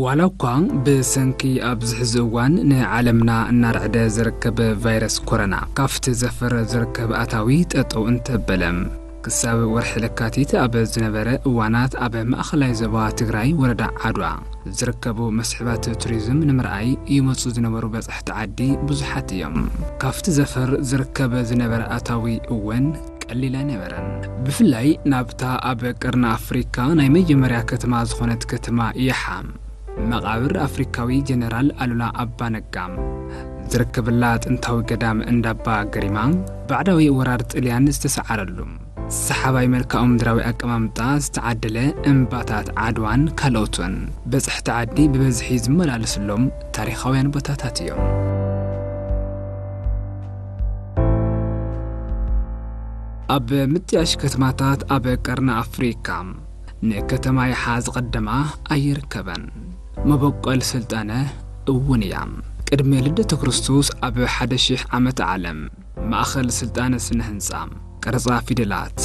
ዋላ እኳ ብሰንኪ ኣብዚ ሕዚ እዋን ንዓለምና እናረዕደ ዝርከብ ቫይረስ ኮሮና ካብቲ ዘፈር ዝርከብ ኣታዊ ጠጠው እንተበለ፣ ክሳብ ወርሒ ለካቲት ኣብ ዝነበረ እዋናት ኣብ ማእኸላይ ዞባ ትግራይ ወረዳ ዓድዋ ዝርከቡ መስሕባት ቱሪዝም ንምርኣይ ይመፁ ዝነበሩ በፃሕቲ ዓዲ ብዙሓት እዮም። ካብቲ ዘፈር ዝርከብ ዝነበረ ኣታዊ እውን ቀሊል ኣይነበረን። ብፍላይ ናብታ ኣብ ቀርኒ ኣፍሪካ ናይ መጀመርያ ከተማ ዝኾነት ከተማ የሓ፣ መቓብር ኣፍሪካዊ ጀነራል ኣሉላ ኣባ ነጋ ዝርከበላ ጥንታዊ ገዳም እንዳባ ገሪማ፣ ባዕዳዊ ወራር ጥልያን ዝተሰዓረሉ፣ ሰሓባይ መልክዓ ምድራዊ ኣቀማምጣ ዝተዓደለ እምባታት ዓድዋን ካልኦትን በፅሕቲ ዓዲ ብበዝሒ ዝመላለስሎም ታሪኻውያን ቦታታት እዮም። ኣብ ምጥያሽ ከተማታት ኣብ ቀርኒ ኣፍሪካ ንከተማ ይሓ ዝቐደማ ኣይርከበን። መበቆል ስልጣነ እውን እያ። ቅድሚ ልደተ ክርስቶስ ኣብ ሓደ ሺሕ ዓመተ ዓለም ማእኸል ስልጣነ ስነ ህንፃ፣ ቅርፃ ፊደላት፣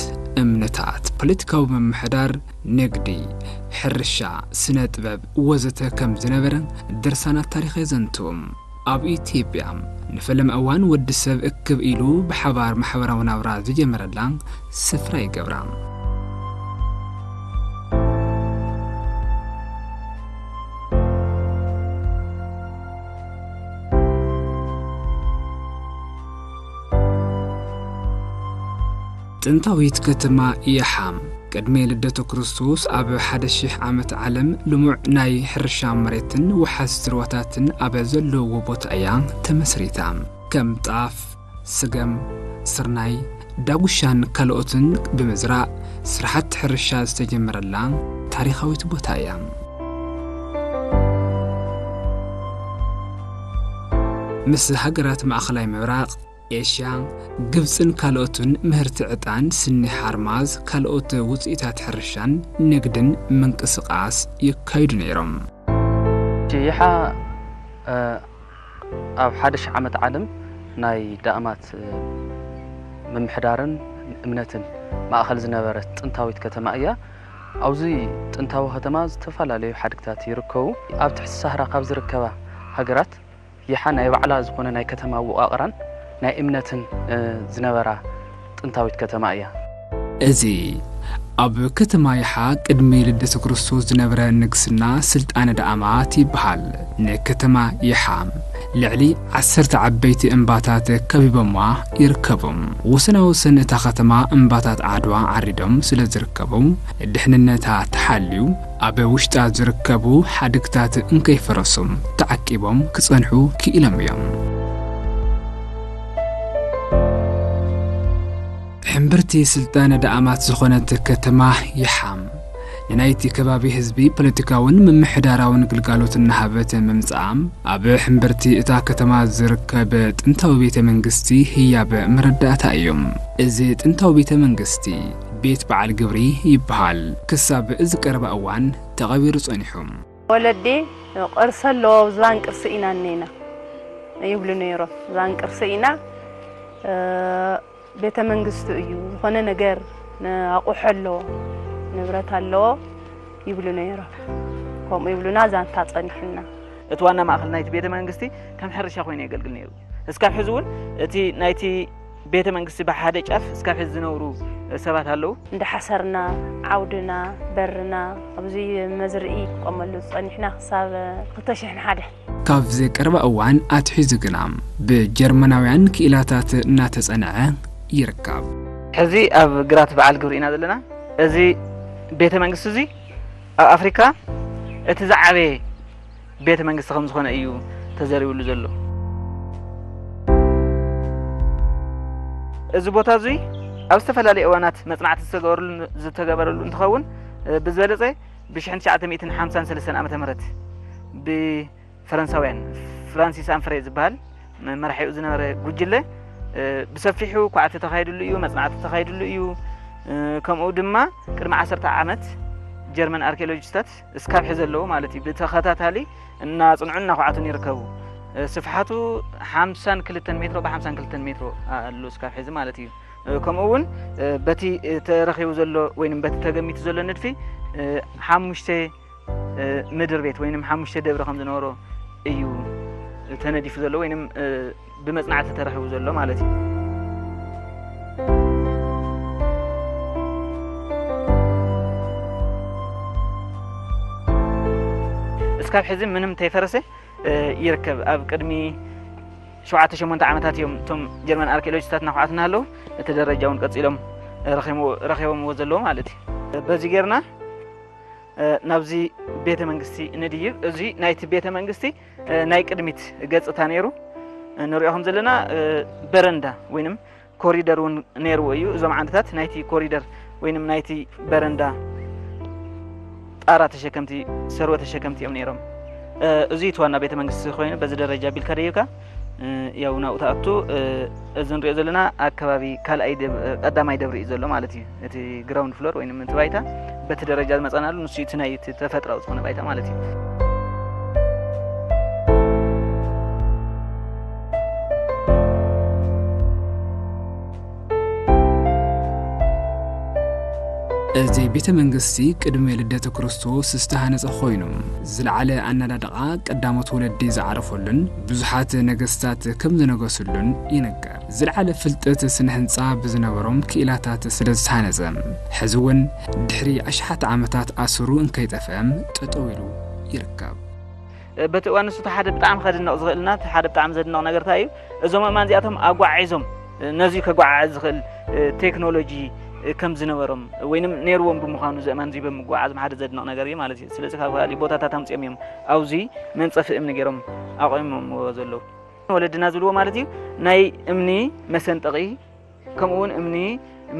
እምነታት፣ ፖለቲካዊ ምምሕዳር፣ ንግዲ፣ ሕርሻ፣ ስነ ጥበብ ወዘተ ከም ዝነበረ ድርሳናት ታሪኽ የዘንቱ። ኣብ ኢትዮጵያ ንፈለማ እዋን ወዲ ሰብ እክብ ኢሉ ብሓባር ማሕበራዊ ናብራ ዝጀመረላ ስፍራ ይገብራ። ጥንታዊት ከተማ የሓ ቅድሚ ልደተ ክርስቶስ ኣብ ሓደ ሺሕ ዓመት ዓለም ልሙዕ ናይ ሕርሻ መሬትን ወሓዝቲ ሩባታትን ኣብ ዘለውዎ ቦታ እያ ተመስሪታ። ከም ጣፍ፣ ስገም፣ ስርናይ፣ ዳጉሻን ካልኦትን ብምዝራእ ስራሕቲ ሕርሻ ዝተጀመረላ ታሪኻዊት ቦታ እያ። ምስ ሃገራት ማእኸላይ ምብራቕ፣ ኤሽያ፣ ግብፅን ካልኦትን ምህርቲ ዕጣን፣ ስኒ ሓርማዝ፣ ካልኦት ውፅኢታት ሕርሻን ንግድን ምንቅስቓስ የካይዱ ነይሮም። ይሓ፣ እ፣ ኣብ ሓደ ሺሕ ዓመት ዓለም ናይ ዳእማት፣ እ፣ ምምሕዳርን እምነትን ማእኸል ዝነበረት ጥንታዊት ከተማ እያ። ኣብዚ ጥንታዊ ከተማ ዝተፈላለዩ ሓድግታት ይርከቡ። ኣብ ትሕቲ ሳህራ ካብ ዝርከባ ሃገራት ይሓ ናይ ባዕላ ዝኾነ ናይ ከተማ ኣወቃቕራን ናይ እምነትን፣ እ፣ ዝነበራ ጥንታዊት ከተማ እያ። እዚ ኣብ ከተማ ይሓ ቅድሚ ልደተ ክርስቶስ ዝነበረ ንግስና ስልጣነ ዳእማት ይበሃል። ንከተማ ይሓ ልዕሊ ዓሰርተ ዓበይቲ እምባታት ከቢቦማ ይርከቡ። ወሰናወሰን እታ ከተማ እምባታት ዓድዋ ዓሪዶም ስለ ዝርከቡ፣ ድሕንነታ ተሓልዩ ኣብ ውሽጣ ዝርከቡ ሓድግታት እንከይፈረሱ ተዓቂቦም ክጸንሑ ክኢሎም እዮም። ሕምብርቲ ስልጣነ ዳእማት ዝኾነት ከተማ ይሓ፣ ንናይቲ ከባቢ ህዝቢ ፖለቲካውን ምምሕዳራውን ግልጋሎት እናሃበት ምምጻኣ፣ ኣብ ሕምብርቲ እታ ከተማ ዝርከብ ጥንታዊ ቤተ መንግስቲ ህያብ መረዳእታ እዩ። እዚ ጥንታዊ ቤተ መንግስቲ ቤት በዓል ግብሪ ይበሃል። ክሳብ እዚ ቀረባ እዋን ተቐቢሩ ጸኒሑ። ወለዲ ቅርሲ ኣለዎ፣ ዝባን ቅርሲ ኢና እኒና ይብሉ ነይሮም። ዝባን ቅርሲ ኢና፣ እ፣ ቤተ መንግስቲ እዩ፣ ዝኾነ ነገር ን-፣ ኣቑሑ ኣለዎ፣ ንብረት ኣለዎ ይብሉ ነይሮም። ከምኡ ይብሉና፣ ዛንታ ጸኒሑና። እቲ ዋና ማእከል ናይቲ ቤተ መንግስቲ ከም ሕርሻ ኮይኑ የገልግል ነይሩ። እስካብ ሕዚ እውን እቲ ናይቲ ቤተ መንግስቲ ብሓደ ጫፍ እስካብ ሕዚ ዝነብሩ ሰባት ኣለዉ። እንዳ ሓሰርና፣ ዓውድና፣ በርና፣ ኣብዚ መዝርኢ ክቆመሉ ዝጸኒሕና ክሳብ ክልተ ሽሕን ሓደ። ካብዚ ቀረባ እዋን ኣትሒዙ ግና ብጀርመናውያን ክኢላታት እናተጸንዐ ይርከብ። ሕዚ ኣብ ግራት በዓል ግብሪ ኢና ዘለና። እዚ ቤተ መንግስቲ እዚ ኣብ ኣፍሪካ እቲ ዝዓበየ ቤተ መንግስቲ ከም ዝኾነ እዩ ተዘሪብሉ ዘሎ። እዚ ቦታ እዚ ኣብ ዝተፈላለዩ እዋናት መጽናዕቲ ዝተገበረሉ፣ ዝተገበረሉ እንትኸውን፣ እ፣ ብዝበለጸ ብ ሽሕን ትሽዓተ ሚእትን ሓምሳን ሰለስተን ዓመተ ምህረት ብፈረንሳውያን ፍራንሲስ ኣንፍሬ ዝበሃል መራሒኡ ዝነበረ ጉጅለ፣ እ፣ ብሰፊሑ ኳዕቲ ተኻይድሉ እዩ፣ መጽናዕቲ ተኻይድሉ እዩ። እ፣ ከምኡ ድማ ቅድሚ ዓሰርተ ዓመት ጀርመን ኣርኪኦሎጂስታት እስካብ ሕዚ ኣለዉ ማለት እዩ። ብተኸታታሊ እናጽንዑን እናኳዕቱን ይርከቡ። ስፍሓቱ ሓምሳን ክልተን ሜትሮ ብ ሓምሳን ክልተን ሜትሮ ኣሎ እስካብ ሕዚ ማለት እዩ። ከምኡ እውን በቲ ተረኺቡ ዘሎ ወይም በቲ ተገሚቱ ዘሎ ንድፊ ሓሙሽተ ምድር ቤት ወይም ሓሙሽተ ደብሪ ከም ዝነበሮ እዩ ተነዲፉ ዘሎ ወይም ብመጽናዕቲ ተረኺቡ ዘሎ ማለት እዩ። እስካብ ሕዚ ምንም ተይፈረሰ ይርከብ። ኣብ ቅድሚ ሸውዓተ ሸሞንተ ዓመታት እዮም እቶም ጀርመን ኣርኪኦሎጂስታት እናኳዓትና ኣለዉ። እቲ ደረጃ እውን ቀጺሎም ረኺቦምዎ ዘለዉ ማለት እዩ። በዚ ጌርና ናብዚ ቤተ መንግስቲ ንድይብ። እዚ ናይቲ ቤተ መንግስቲ ናይ ቅድሚት ገጽታ ነይሩ። ንሪኦ ከም ዘለና በረንዳ ወይንም ኮሪደር እውን ነይርዎ እዩ። እዞም ዓንድታት ናይቲ ኮሪደር ወይንም ናይቲ በረንዳ ጣራ ተሸከምቲ፣ ሰርወ ተሸከምቲ እዮም ነይሮም። እዚ እቲ ዋና ቤተ መንግስቲ ኮይኑ በዚ ደረጃ ቢልካ ደይብካ ያው ናብኡ ትኣቱ። እዚ ንሪኦ ዘለና ኣብ ከባቢ ካልኣይ ደብ-፣ ቀዳማይ ደብሪ እዩ ዘሎ ማለት እዩ። እቲ ግራውንድ ፍሎር ወይንም እቲ ባይታ በቲ ደረጃ ዝመጸናሉ ንሱ እቲ ናይ እቲ ተፈጥራዊ ዝኾነ ባይታ ማለት እዩ። እዚ ቤተ መንግስቲ ቅድሚ ልደተ ክርስቶስ ዝተሃነጸ ኮይኑ፣ ዝለዓለ ኣናዳድቓ ቀዳሞት ወለዲ ዝዓረፈሉን ብዙሓት ነገስታት ከም ዝነገሱሉን ይንገር። ዝለዓለ ፍልጠት ስነ ህንጻ ብዝነበሮም ክኢላታት ስለ ዝተሃነጸ፣ ሕዚ እውን ድሕሪ ኣሽሓት ዓመታት ኣስሩ እንከይጠፍአ ጠጠው ኢሉ ይርከብ። በቲ እዋን ንሱ እቲ ሓደ ብጣዕሚ ከድንቕ ዝኽእልና፣ እቲ ሓደ ብጣዕሚ ዘድንቕ ነገር እንታይ እዩ? እዞም ኣእማን እዚኣቶም ኣጓዒዞም፣ ነዚ ከጓዓዕዝ ዝኽእል ቴክኖሎጂ ከም ዝነበሮም ወይንም ነይርዎም ብምዃኑ፣ እዚ ኣእማን እዚ ብምጓዓዞም ሓደ ዘድንቕ ነገር እዩ ማለት እዩ። ስለዚ ካብ ካልእ ቦታታት ኣምጺኦም እዮም ኣብዚ መንጸፊ እምኒ ገይሮም ኣቑሞምዎ ዘለዉ። ወለድና ዝብልዎ ማለት እዩ፣ ናይ እምኒ መሰንጠቒ ከምኡ እውን እምኒ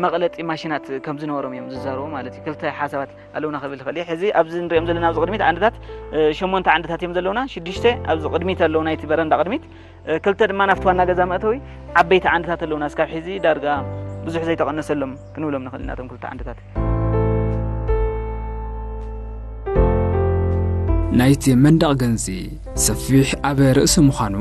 መቕለጢ ማሽናት ከም ዝነበሮም እዮም ዝዛረቡ ማለት እዩ። ክልተ ሓሳባት ኣለውና ክብል ይኽእል እየ። ሕዚ ኣብዚ ንሪኦም ዘለና ኣብዚ ቅድሚት ዓንድታት፣ እ፣ ሸሞንተ ዓንድታት እዮም ዘለውና። ሽዱሽተ ኣብዚ ቅድሚት ኣለዉ፣ ናይቲ በረንዳ ቅድሚት። እ፣ ክልተ ድማ ናብቲ ዋና ገዛ መእተዊ ዓበይቲ ዓንድታት ኣለውና። እስካብ ሕዚ ዳርጋ ብዙሕ ዘይተቐነሰሎም ክንብሎም ንኽእል ኢና፣ እቶም ክልተ ዓንድታት። ናይቲ መንደቕ ገንዚ ሰፊሕ ኣብ ርእሲ ምዃኑ፣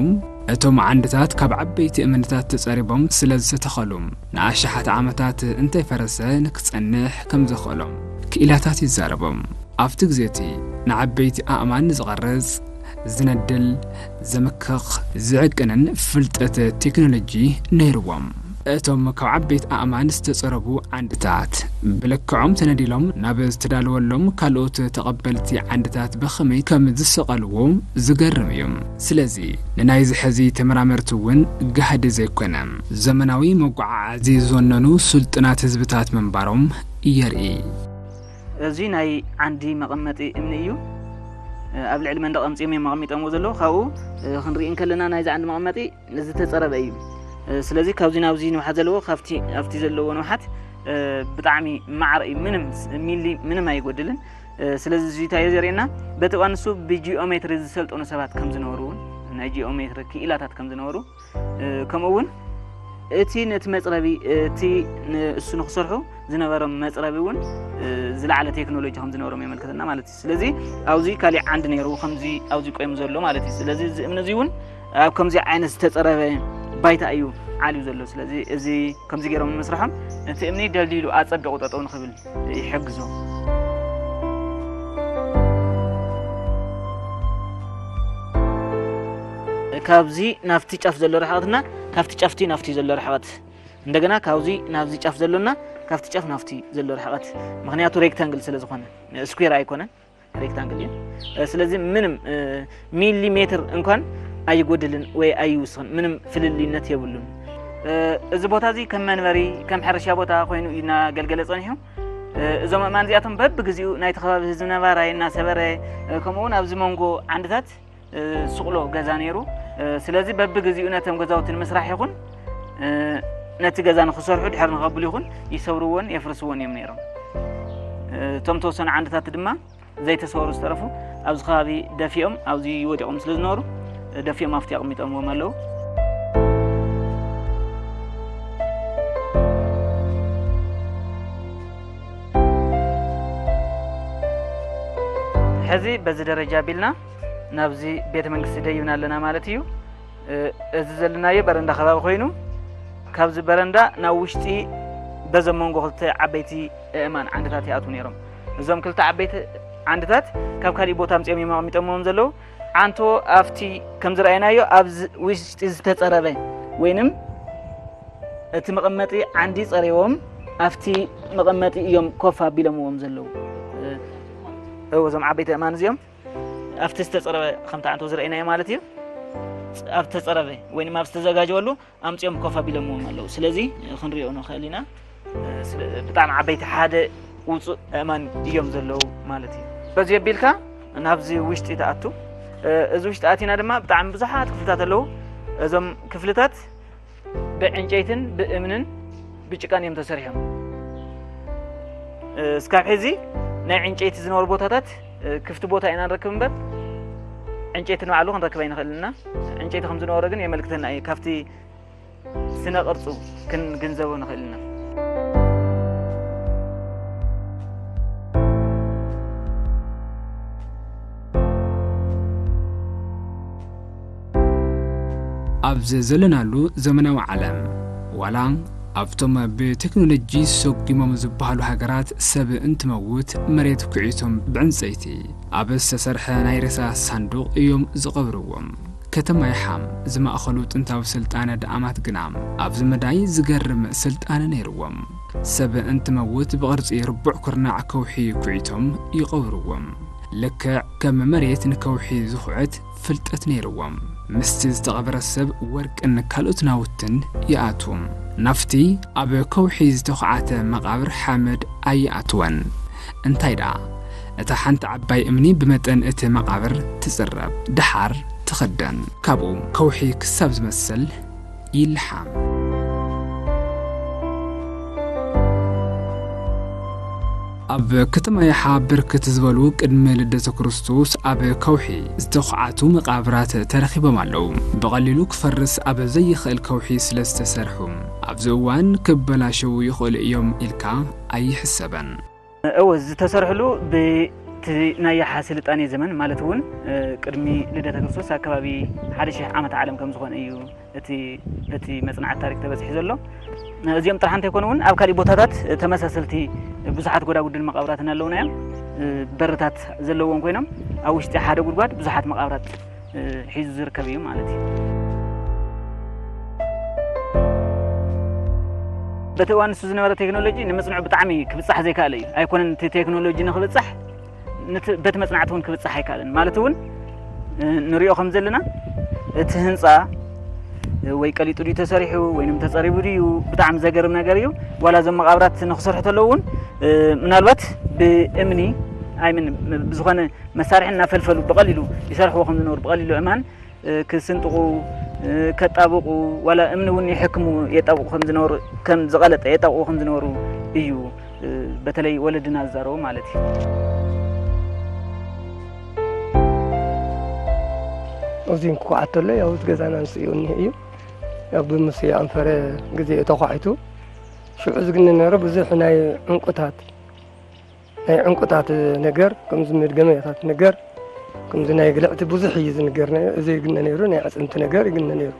እቶም ዓንድታት ካብ ዓበይቲ እምንታት ተጸሪቦም ስለ ዝተተኸሉ፣ ንኣሽሓት ዓመታት እንተይፈረሰ ንክጸንሕ ከም ዘኽእሎም ክኢላታት ይዛረቡ። ኣብቲ ግዜ እቲ ንዓበይቲ ኣእማን ዝቐርጽ፣ ዝነድል፣ ዘምክኽ፣ ዝዕቅንን ፍልጠት ቴክኖሎጂ ነይርዎም። እቶም ካብ ዓበይቲ ኣእማን ዝተጸረቡ ዓንድታት ብልክዖም ተነዲሎም ናብ ዝተዳለወሎም ካልኦት ተቐበልቲ ዓንድታት ብኸመይ ከም ዝሰቐልዎ ዝገርም እዩ። ስለዚ ንናይዚ ሕዚ ተመራመርቲ እውን ጋህዲ ዘይኮነ፣ ዘመናዊ መጓዓዓዚ ዝወነኑ ስልጡናት ህዝብታት ምንባሮም የርኢ። እዚ ናይ ዓንዲ መቐመጢ እምኒ እዩ። ኣብ ልዕሊ መንደቕ ኣምጺኦም እዮም ኣቐሚጦምዎ ዘለዉ። ካብኡ ክንርኢ እንከለና ናይዚ ዓንዲ መቐመጢ ዝተጸረበ እዩ። ስለዚ ካብዚ ናብዚ ንውሓት ዘለዎ ካብቲ ኣብቲ ዘለዎ ንውሓት ብጣዕሚ ማዕረ እዩ። ምንም ስ-፣ ሚሊ ምንም ኣይጎድልን። ስለዚ እዚ እንታይ እዩ ዘርእየና? በቲ እዋን ንሱ ብጂኦሜትሪ ዝሰልጠኑ ሰባት ከም ዝነበሩ እውን፣ ናይ ጂኦሜትሪ ክኢላታት ከም ዝነበሩ፣ ከምኡ እውን እቲ ነቲ መጽረቢ፣ እቲ ንእሱ ንክሰርሑ ዝነበሮም መጽረቢ እውን ዝለዓለ ቴክኖሎጂ ከም ዝነበሮም የመልክተና ማለት እዩ። ስለዚ ኣብዚ ካሊእ ዓንዲ ነይሩ፣ ከምዚ ኣብዚ ቆይሙ ዘሎ ማለት እዩ። ስለዚ እዚ እምኒ እዚ እውን ኣብ ከምዚ ዓይነት ዝተጸረበ ባይታ እዩ ዓልዩ ዘሎ። ስለዚ እዚ ከምዚ ገይሮም ንምስርሖም እቲ እምኒ ደልዲሉ ኣጸቢቑ ጠጠው ንኽብል ይሕግዞ። ካብዚ ናብቲ ጫፍ ዘሎ ርሕቐትና ካብቲ ጫፍቲ ናብቲ ዘሎ ርሕቐት፣ እንደገና ካብዚ ናብዚ ጫፍ ዘሎና ካብቲ ጫፍ ናብቲ ዘሎ ርሕቐት፣ ምኽንያቱ ሬክታንግል ስለ ዝኾነ፣ ስኩዌር ኣይኮነን፣ ሬክታንግል እዩ። ስለዚ ምንም ሚሊሜትር እንኳን ኣይጎድልን ወይ ኣይውስኽን፣ ምንም ፍልልይነት የብሉን። እዚ ቦታ እዚ ከም መንበሪ፣ ከም ሕርሻ ቦታ ኮይኑ እዩ እናገልገለ ጸኒሑ። እዞም ኣእማን እዚኣቶም በብግዜኡ ናይቲ ከባቢ ህዝቢ ነባራይ እናሰበረ፣ ከምኡ እውን ኣብዚ መንጎ ዓንድታት ሱቕሎ ገዛ ነይሩ። ስለዚ በብግዜኡ ነቶም ገዛውቲ ንምስራሕ ይኹን ነቲ ገዛ ንኽሰርሑ ድሕሪ ንኸብሉ ይኹን ይሰብርዎን የፍርስዎን እዮም ነይሮም። እቶም ተወሰኑ ዓንድታት ድማ ዘይተሰበሩ ዝተረፉ ኣብዚ ከባቢ ደፊኦም ኣብዚ ወዲቖም ስለ ዝነበሩ ደፊኦም ኣብቲ ኣቕሚጦምዎም ኣለዉ። ሕዚ በዚ ደረጃ ቢልና ናብዚ ቤተ መንግስቲ ደይብና ኣለና ማለት እዩ። እዚ ዘለናዮ በረንዳ ከባቢ ኮይኑ፣ ካብዚ በረንዳ ናብ ውሽጢ በዘም መንጎ ክልተ ዓበይቲ ኣእማን ዓንድታት ይኣትዉ ነይሮም። እዞም ክልተ ዓበይቲ ዓንድታት ካብ ካሊእ ቦታ ኣምጺኦም እዮም ኣቐሚጦምዎም ዘለዉ። ዓንቶ ኣብቲ ከም ዝረኣይናዮ ኣብዚ ውሽጢ ዝተጸረበ ወይንም እቲ መቐመጢ ዓንዲ ጸሪቦም ኣብቲ መቐመጢ እዮም ኮፍ ኣቢሎምዎም ዘለዉ። እወ፣ እዞም ዓበይቲ ኣእማን እዚኦም ኣብቲ ዝተጸረበ ከምቲ ዓንቶ ዝረኣይናዮ ማለት እዩ። ኣብ ዝተጸረበ ወይንም ኣብ ዝተዘጋጀወሉ ኣምጺኦም ኮፍ ኣቢሎምዎም ኣለዉ። ስለዚ ክንሪኦ ንኽእል ኢና። ስለ-፣ ብጣዕሚ ዓበይቲ ሓደ ውጹእ ኣእማን እዮም ዘለዉ ማለት እዩ። በዚ ኣቢልካ ናብዚ ውሽጢ ትኣቱ። እዚ ውሽጢ ኣቲና ድማ ብጣዕሚ ብዙሓት ክፍልታት ኣለዉ። እዞም ክፍልታት ብዕንጨይትን ብእምንን ብጭቃን እዮም ተሰሪሖም። እስካብ ሕዚ ናይ ዕንጨይቲ ዝነበሩ ቦታታት ክፍቲ ቦታ ኢና ንረክብ እምበር ዕንጨይቲ ንባዕሉ ክንረክብ ኣይንኽእልን ኢና። ዕንጨይቲ ከም ዝነበረ ግን የመልክተና እዩ። ካብቲ ስነ ቅርጹ ክንግንዘቦ ንኽእል ኢና። ኣብዚ ዘለናሉ ዘመናዊ ዓለም፣ ዋላ ኣብቶም ብቴክኖሎጂ ሰጒሞም ዝበሃሉ ሃገራት፣ ሰብ እንትመውት መሬት ኩዒቶም ብዕንጸይቲ ኣብ ዝተሰርሐ ናይ ሬሳ ሳንዱቕ እዮም ዝቐብርዎም። ከተማ ይሓም ዝማእኸሉ ጥንታዊ ስልጣነ ደኣማት ግና ኣብዚ መዳይ ዝገርም ስልጣነ ነይርዎም። ሰብ እንትመውት ብቕርጺ ርቡዕ ኩርናዕ ከውሒ ኩዒቶም ይቐብርዎም። ልክዕ ከም መሬት ንከውሒ ዝኹዕት ፍልጠት ነይርዎም። ምስቲ ዝተቐብረ ሰብ ወርቅን ካልኦት ናውትን ይኣትዉ። ናብቲ ኣብ ከውሒ ዝተኹዓተ መቓብር ሓመድ ኣይኣትወን። እንታይ ደኣ፣ እታ ሓንቲ ዓባይ እምኒ ብመጠን እቲ መቓብር ትጽረብ፣ ደሓር ትኽደን። ካብኡ ከውሒ ክሳብ ዝመስል ይልሓም። ኣብ ከተማ ይሓ ብርክት ዝበሉ ቅድሚ ልደተ ክርስቶስ ኣብ ከውሒ ዝተኹዓቱ መቓብራት ተረኺቦም ኣለዉ። ብቐሊሉ ክፈርስ ኣብ ዘይኽእል ከውሒ ስለ ዝተሰርሑ፣ ኣብዚ እዋን ክበላሸዉ ይኽእሉ እዮም ኢልካ ኣይሕሰበን። እወ፣ ዝተሰርሕሉ ብቲ ናይ ያሓ ስልጣኔ ዘመን፣ ማለት እውን፣ እ፣ ቅድሚ ልደተ ክርስቶስ ኣከባቢ ሓደ ሺሕ ዓመተ ዓለም ከም ዝኾነ እዩ እቲ በቲ መጽናዕቲ ታሪክ ተበጺሑ ዘሎ። እዚኦም ጥራሕ እንተይኮኑ እውን ኣብ ካሊእ ቦታታት ተመሳሰልቲ ብዙሓት ጎዳጉድን መቓብራትን ኣለውና እዮም። እ፣ በርታት ዘለዎም ኮይኖም ኣብ ውሽጢ ሓደ ጉድጓድ ብዙሓት መቓብራት እ፣ ሒዙ ዝርከብ እዩ ማለት እዩ። በቲ እዋን ንሱ ዝነበረ ቴክኖሎጂ ንምጽንዑ ብጣዕሚ ክብጻሕ ዘይከኣለ እዩ። ኣይኮነን እቲ ቴክኖሎጂ ንኽብጻሕ፣ ንቲ-፣ በቲ መጽናዕቲ እውን ክብጻሕ ኣይከኣለን። ማለት እውን፣ እ፣ ንሪኦ ከም ዘለና እቲ ህንጻ፣ እ፣ ወይ ቀሊጡ ድዩ ተሰሪሑ ወይንም ተጸሪቡ ድዩ፣ ብጣዕሚ ዘገርም ነገር እዩ። ዋላ እዞም መቓብራት ንኽሰርሑ ተለዉ እውን፣ እ፣ ምናልባት ብእምኒ፣ ኣይምን፣ ብዝኾነ መሳርሒ እናፈልፈሉ ብቐሊሉ ይሰርሕዎ ከም ዝነበሩ፣ ብቐሊሉ እማን እ፣ ክስንጥቑ፣ እ፣ ከጣብቑ፣ ዋላ እምኒ እውን ይሕክሙ፣ የጣብቑ ከም ዝነበሩ፣ ከም ዝቐለጠ የጣብቑ ከም ዝነበሩ እዩ፣ እ፣ በተለይ ወለድና ዝዛረቡ ማለት እዩ። እዚ እንኳ ኣተሎ ያው እቲ ገዛና ንስኡ እኒሄ እዩ። ያው ብምስ ኣንፈረ ግዜ ተኳዒቱ ሽዑ ዝግነ ነይሩ ብዙሕ ናይ ዕንቁታት ናይ ዕንቁታት ነገር፣ ከምዚ መድገምያታት ነገር፣ ከምዚ ናይ ግልዕቲ ብዙሕ እዩ ዝንገር ነይሩ። እዚ ይግነ ነይሩ፣ ናይ ኣዕጽምቲ ነገር ይግነ ነይሩ።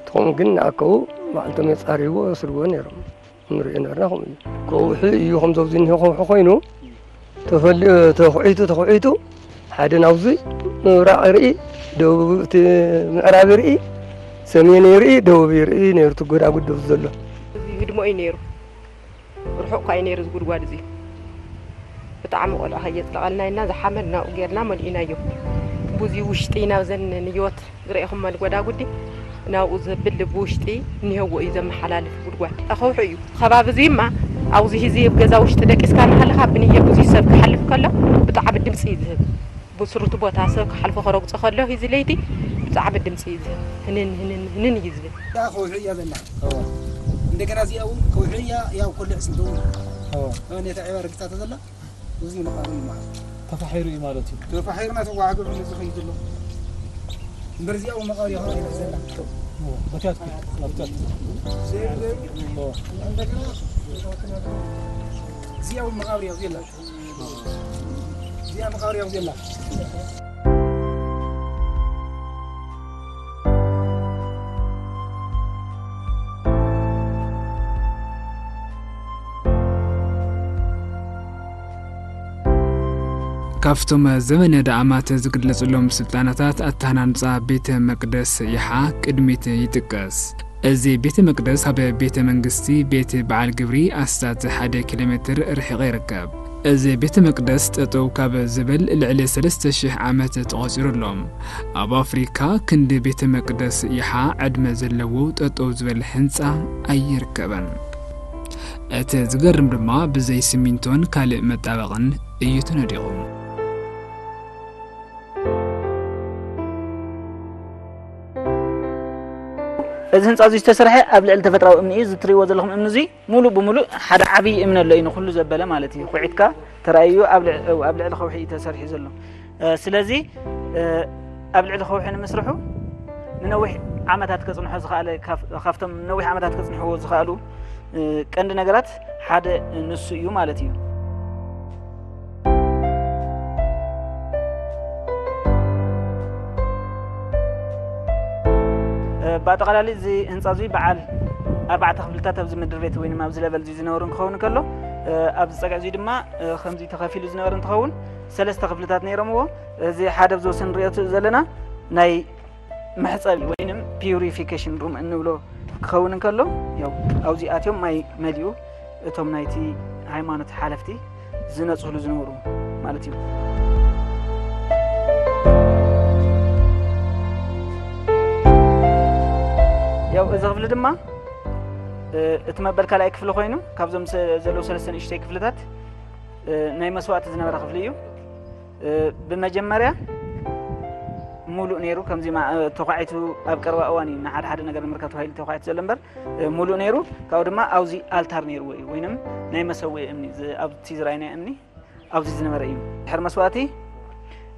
እቲ ከምኡ ግን ንኣከቡ ባዕልቶም የጻርይዎ፣ የስርዎ ነይሮም። ንሪኦ ነርና ከምኡ እዩ። ከውሒ እዩ፣ ከምዚ ኣብዚ እኒሆ ከውሒ ኮይኑ፣ ተፈሊ-፣ ተኹዒቱ፣ ተኹዒቱ፣ ሓደ ናብዚ ምብራቕ ይርኢ፣ ደቡብ እቲ ምዕራብ ይርኢ፣ ሰሜን ይርኢ፣ ደቡብ ይርኢ ነይሩ፣ እቲ ጎዳጉዲ ኣብዚ ዘሎ። እዚ ህድሞ እዩ ነይሩ። ርሑቕ እኳ እዩ ነይሩ እዚ ጉድጓድ እዚ። ብጣዕሚ ቆልዑ ከየጽለቐልና ኢልና ዝሓመድ ናብኡ ጌርና መሊእናዮ። ቡዚ ውሽጢ ናብዘን ንዮት ዝረኢኹመን ጎዳጉዲ ናብኡ ዘብል ብውሽጢ እኒሀዎ እዩ ዘመሓላልፍ ጉድጓድ። ከውሒ እዩ። ከባቢ እዙይማ ኣብዚ ህዚ ኣብ ገዛ ውሽጢ ደቂስካ እናሃለኻ ብንየ ብዙይ ሰብ ክሓልፍ ከሎ ብጣዕሚ ድምፂ እዩ ዝህብ። ብስሩቲ ቦታ ሰብ ክሓልፎ ከረግጾ ከሎ፣ እዚ ለይቲ ብጣዕሚ ድምጺ እዩ ዝህብ። ህንን፣ ህንን፣ ህንን እዩ ዝብል። እዛ ከውሒ እያ ዘላ። እዎ። እንደገና እዚኣ እውን ከውሒ እያ፣ ያው ኮሎ ዕጽምቲ እውን። እዎ። እወ፣ ነታ ዒባ ረጊጻቶ ዘላ፣ እዚ መቃብር እዩ ማለት። ተፋሒሩ እዩ ማለት እዩ። ተፋሒሩና ተዋሕዶ ብለዚ ኸይዱ ኣሎ። እምበር እዚኣ እውን መቃብር እያ ዘላ። እዎ፣ በቲያት፣ በቲያት። እዎ። እንደገና እዚኣ እውን መቃብር እያ ዘላ። እዚኣ መቃብር እያ ዘላ። ካብቶም ዘመነ ዳእማት ዝግለጽሎም ስልጣነታት ኣተሃናንጻ ቤተ መቅደስ ይሓ ቅድሚት ይጥቀስ። እዚ ቤተ መቅደስ ኣብ ቤተ መንግስቲ ቤት በዓል ግብሪ ኣስታት ሓደ ኪሎ ሜትር ርሒቑ ይርከብ። እዚ ቤተ መቅደስ ጠጠው ካብ ዝብል ልዕሊ ሰለስተ ሽሕ ዓመት ተቖጺሩ ኣሎ። ኣብ ኣፍሪካ ክንዲ ቤተ መቅደስ ይሓ ዕድመ ዘለዎ ጠጠው ዝበል ህንጻ ኣይርከበን። እቲ ዝገርም ድማ ብዘይ ሲሚንቶን ካልእ መጣበቕን እዩ ተነዲቑ። እዚ ህንፃ እዚ ዝተሰርሐ ኣብ ልዕሊ ተፈጥራዊ እምኒ እዩ። እዚ ትሪእዎ ዘለኹም እምኒ እዚ ሙሉእ ብሙሉእ ሓደ ዓብዪ እምኒ ኣሎ እዩ፣ ንኩሉ ዘበለ ማለት እዩ። ኩዒትካ ተራእዩ ኣብ ልዕ-፣ ኣብ ልዕሊ ከውሒ እዩ ተሰሪሑ ዘሎ። እ፣ ስለዚ፣ እ፣ ኣብ ልዕሊ ከውሒ ንምስርሑ ንነዊሕ ዓመታት ከጽንሖ ዝኸኣለ፣ ካፍ-፣ ካብቶም ነዊሕ ዓመታት ከጽንሕዎ ዝኸኣሉ፣ እ፣ ቀንዲ ነገራት ሓደ ንሱ እዩ ማለት እዩ። እ፣ ብኣጠቓላሊ እዚ ህንፃ እዚ በዓል ኣርባዕተ ክፍልታት ኣብዚ ምድር ቤት ወይንም ኣብዚ ለቨል እዚ ዝነበሩ እንትኸውን እንከሎ፣ እ፣ ኣብዚ ፀግዒ እዚ ድማ፣ እ፣ ከምዚ ተኸፊሉ ዝነበረ እንትኸውን ሰለስተ ክፍልታት ነይሮምዎ። እዚ ሓደ ኣብዚ ወሰን ንሪኦ ዘለና ናይ መሕፀቢ ወይንም ፒዩሪፊኬሽን ሩም እንብሎ ክኸውን እንከሎ፣ ያው ኣብዚ ኣትዮም ማይ መሊኡ እቶም ናይቲ ሃይማኖት ሓለፍቲ ዝነፅህሉ ዝነበሩ ማለት እዩ። ያው እዚ ክፍሊ ድማ፣ እ፣ እቲ መበል ካልኣይ ክፍሊ ኮይኑ ካብዞም ሰ-፣ ዘለዉ ሰለስተ ንእሽተይ ክፍልታት፣ እ፣ ናይ መስዋእቲ ዝነበረ ክፍሊ እዩ። እ፣ ብመጀመርያ ሙሉእ ነይሩ። ከምዚ ማ-፣ እ፣ ተዃዒቱ ኣብ ቀረባ እዋን እዩ ንሓደ ሓደ ነገር ንምርካብ ተባሂሉ ተዃዒቱ ዘሎ እምበር፣ እ፣ ሙሉእ ነይሩ። ካብኡ ድማ ኣብዚ ኣልታር ነይርዎ እዩ፣ ወይንም ናይ መሰውኢ እምኒ፣ ዝ-፣ ኣብቲ ዝረኣይናዮ እምኒ ኣብዚ ዝነበረ እዩ። ድሕሪ መስዋእቲ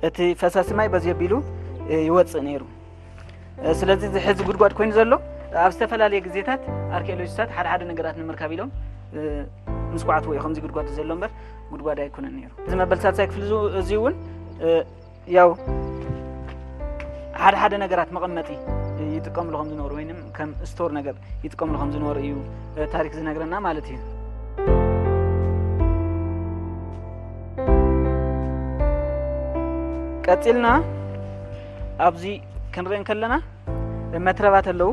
እቲ ፈሳሲ ማይ በዚ ኣቢሉ፣ እ፣ ይወፅእ ነይሩ። እ፣ ስለዚ እዚ ሕዚ ጉድጓድ ኮይኑ ዘሎ ኣብ ዝተፈላለየ ግዜታት ኣርኪኦሎጂስታት ሓደ ሓደ ነገራት ንምርካብ ኢሎም፣ እ፣ ምስ ኳዕትዎ እዩ ከምዚ ጉድጓድ ዘሎ እምበር ጉድጓድ ኣይኮነን ነይሩ። እዚ መበል ሳልሳይ ክፍሊ እዚ፣ እዚ እውን፣ እ፣ ያው ሓደ ሓደ ነገራት መቐመጢ ይጥቀምሉ ከም ዝነበሩ ወይንም ከም ስቶር ነገር ይጥቀምሉ ከም ዝነበሩ እዩ፣ እ፣ ታሪክ ዝነግረና ማለት እዩ። ቀፂልና ኣብዚ ክንርኢ እንከለና መትረባት ኣለዉ።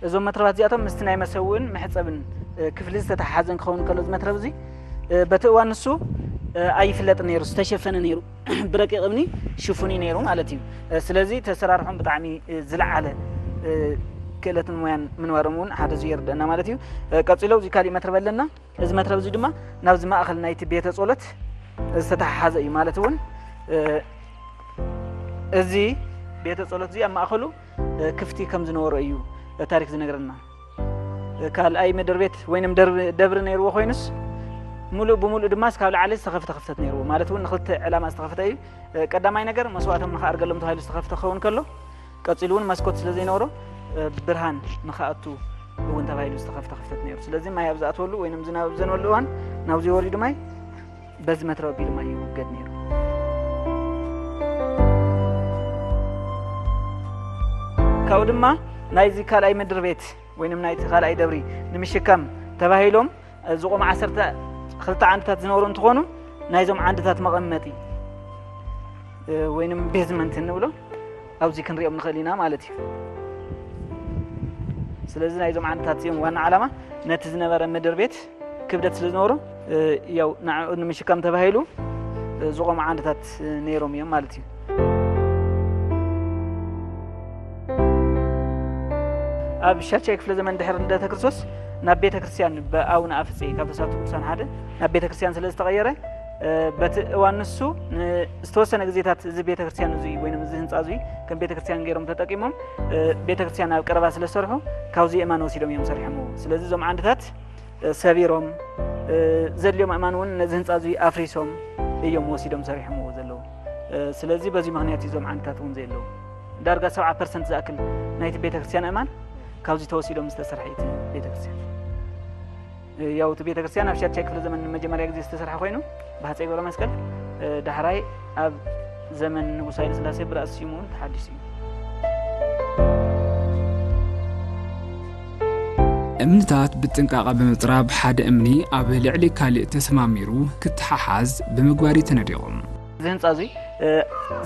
እዞም መትረባት እዚኣቶም ምስቲ ናይ መሰውእን መሕፀብን፣ እ፣ ክፍሊ ዝተተሓሓዘ ክኸውን ከሎ፣ እዚ መትረብ እዚ፣ እ፣ በቲ እዋን ንሱ፣ እ፣ ኣይፍለጥን ነይሩ፣ ዝተሸፈነ ነይሩ። ብረቂቕ እምኒ ሽፉን እዩ ነይሩ ማለት እዩ። እ፣ ስለዚ ተሰራርሖም ብጣዕሚ፣ እ፣ ዝለዓለ፣ እ፣ ክእለትን ሞያን ምንባሮም እውን ሓደ እዚ የርድአና ማለት እዩ። እ፣ ቀፂሎ እዚ ካሊእ መትረብ ኣለና። እዚ መትረብ እዚ ድማ ናብዚ ማእኸል ናይቲ ቤተ ጸሎት ዝተተሓሓዘ እዩ። ማለት እውን፣ እ፣ እዚ ቤተ ጸሎት እዚ ኣብ ማእኸሉ፣ እ፣ ክፍቲ ከም ዝነበሮ እዩ፣ እ፣ ታሪክ ዝነግረና። እ፣ ካልኣይ ምድር ቤት ወይንም ደርቢ-፣ ደብሪ ነይርዎ ኮይኑስ፣ ሙሉእ ብሙሉእ ድማ እስካብ ላዕሊ ዝተኸፍተ ክፍተት ነይርዎ። ማለት እውን ንኽልተ ዕላማ ዝተኸፍተ እዩ። እ፣ ቀዳማይ ነገር መስዋእቶም ንኽኣርገሎም ተባሂሉ ዝተኸፍተ ክኸውን ከሎ፣ ቀጺሉ እውን መስኮት ስለ ዘይነበሮ፣ እ፣ ብርሃን ንኽኣቱ እውን ተባሂሉ ዝተኸፍተ ክፍተት ነይሩ። ስለዚ ማይ ኣብ ዝኣትወሉ ወይንም ዝናብ ኣብ ዘንበሉ እዋን ናብዚ ወሪዱ ማይ በዚ መትረብ ኣቢሉ ማይ ይውገድ ነይሩ። ካብኡ ድማ ናይዚ ካልኣይ ምድር ቤት ወይንም ናይቲ ካልኣይ ደብሪ ንምሽካም ተባሂሎም ዝቖሙ ዓሰርተ ክልተ ዓንድታት ዝነበሩ እንትኾኑ፣ ናይዞም ዓንድታት መቐመጢ፣ እ፣ ወይንም ቤዝመንት እንብሎ ኣብዚ ክንሪኦም ንኽእል ኢና ማለት እዩ። ስለዚ ናይዞም ዓንድታት እዚኦም ዋና ዓላማ ነቲ ዝነበረ ምድር ቤት ክብደት ስለ ዝነበሩ፣ እ፣ ያው ንዕኡ ንምሽካም ተባሂሉ፣ እ፣ ዝቖሙ ዓንድታት፣ እ፣ ነይሮም እዮም ማለት እዩ። ኣብ ሻድሻይ ክፍለ ዘመን ድሕሪ ልደተ ክርስቶስ ናብ ቤተ ክርስቲያን ብኣቡነ ኣፍጼ ካብ ተስዓቱ ቅዱሳን ሓደ ናብ ቤተ ክርስቲያን ስለ ዝተቐየረ፣ እ፣ በቲ እዋን ንሱ ን-፣ ዝተወሰነ ግዜታት እዚ ቤተ ክርስቲያን እዚ ወይም እዚ ህንፃ እዚ ከም ቤተ ክርስቲያን ገይሮም ተጠቂሞም፣ እ፣ ቤተ ክርስቲያን ኣብ ቀረባ ስለ ዝሰርሑ ካብዚ የማን ወሲዶም እዮም ሰሪሖምዎ። ስለዚ እዞም ዓንድታት፣ እ፣ ሰቢሮም፣ እ፣ ዘድልዮም ኣእማን እውን ነዚ ህንፃ እዚ ኣፍሪሶም እዮም ወሲዶም ሰሪሖምዎ ዘለዉ። እ፣ ስለዚ በዚ ምኽንያት እዩ እዞም ዓንድታት እውን ዘየለዉ። ዳርጋ ሰብዓ ፐርሰንት ዝኣክል ናይቲ ቤተ ክርስቲያን ኣእማን ካብዚ ተወሲዶም ዝተሰርሐ እዩ እቲ ቤተ ክርስቲያን። እ፣ ያው እቲ ቤተ ክርስቲያን ኣብ ሻድሻይ ክፍለ ዘመን ንመጀመርያ ግዜ ዝተሰርሐ ኮይኑ ብሃፀይ ገብረ መስቀል፣ እ፣ ዳሕራይ ኣብ ዘመን ንጉስ ሃይለ ስላሴ ብራእሲ ስዩም እውን ተሓዲሱ እዩ። እምንታት ብጥንቃቐ ብምጽራብ ሓደ እምኒ ኣብ ልዕሊ ካልእ ተሰማሚሩ ክተሓሓዝ ብምግባር እዩ ተነዲቑ። እዚ ህንፃ እዚ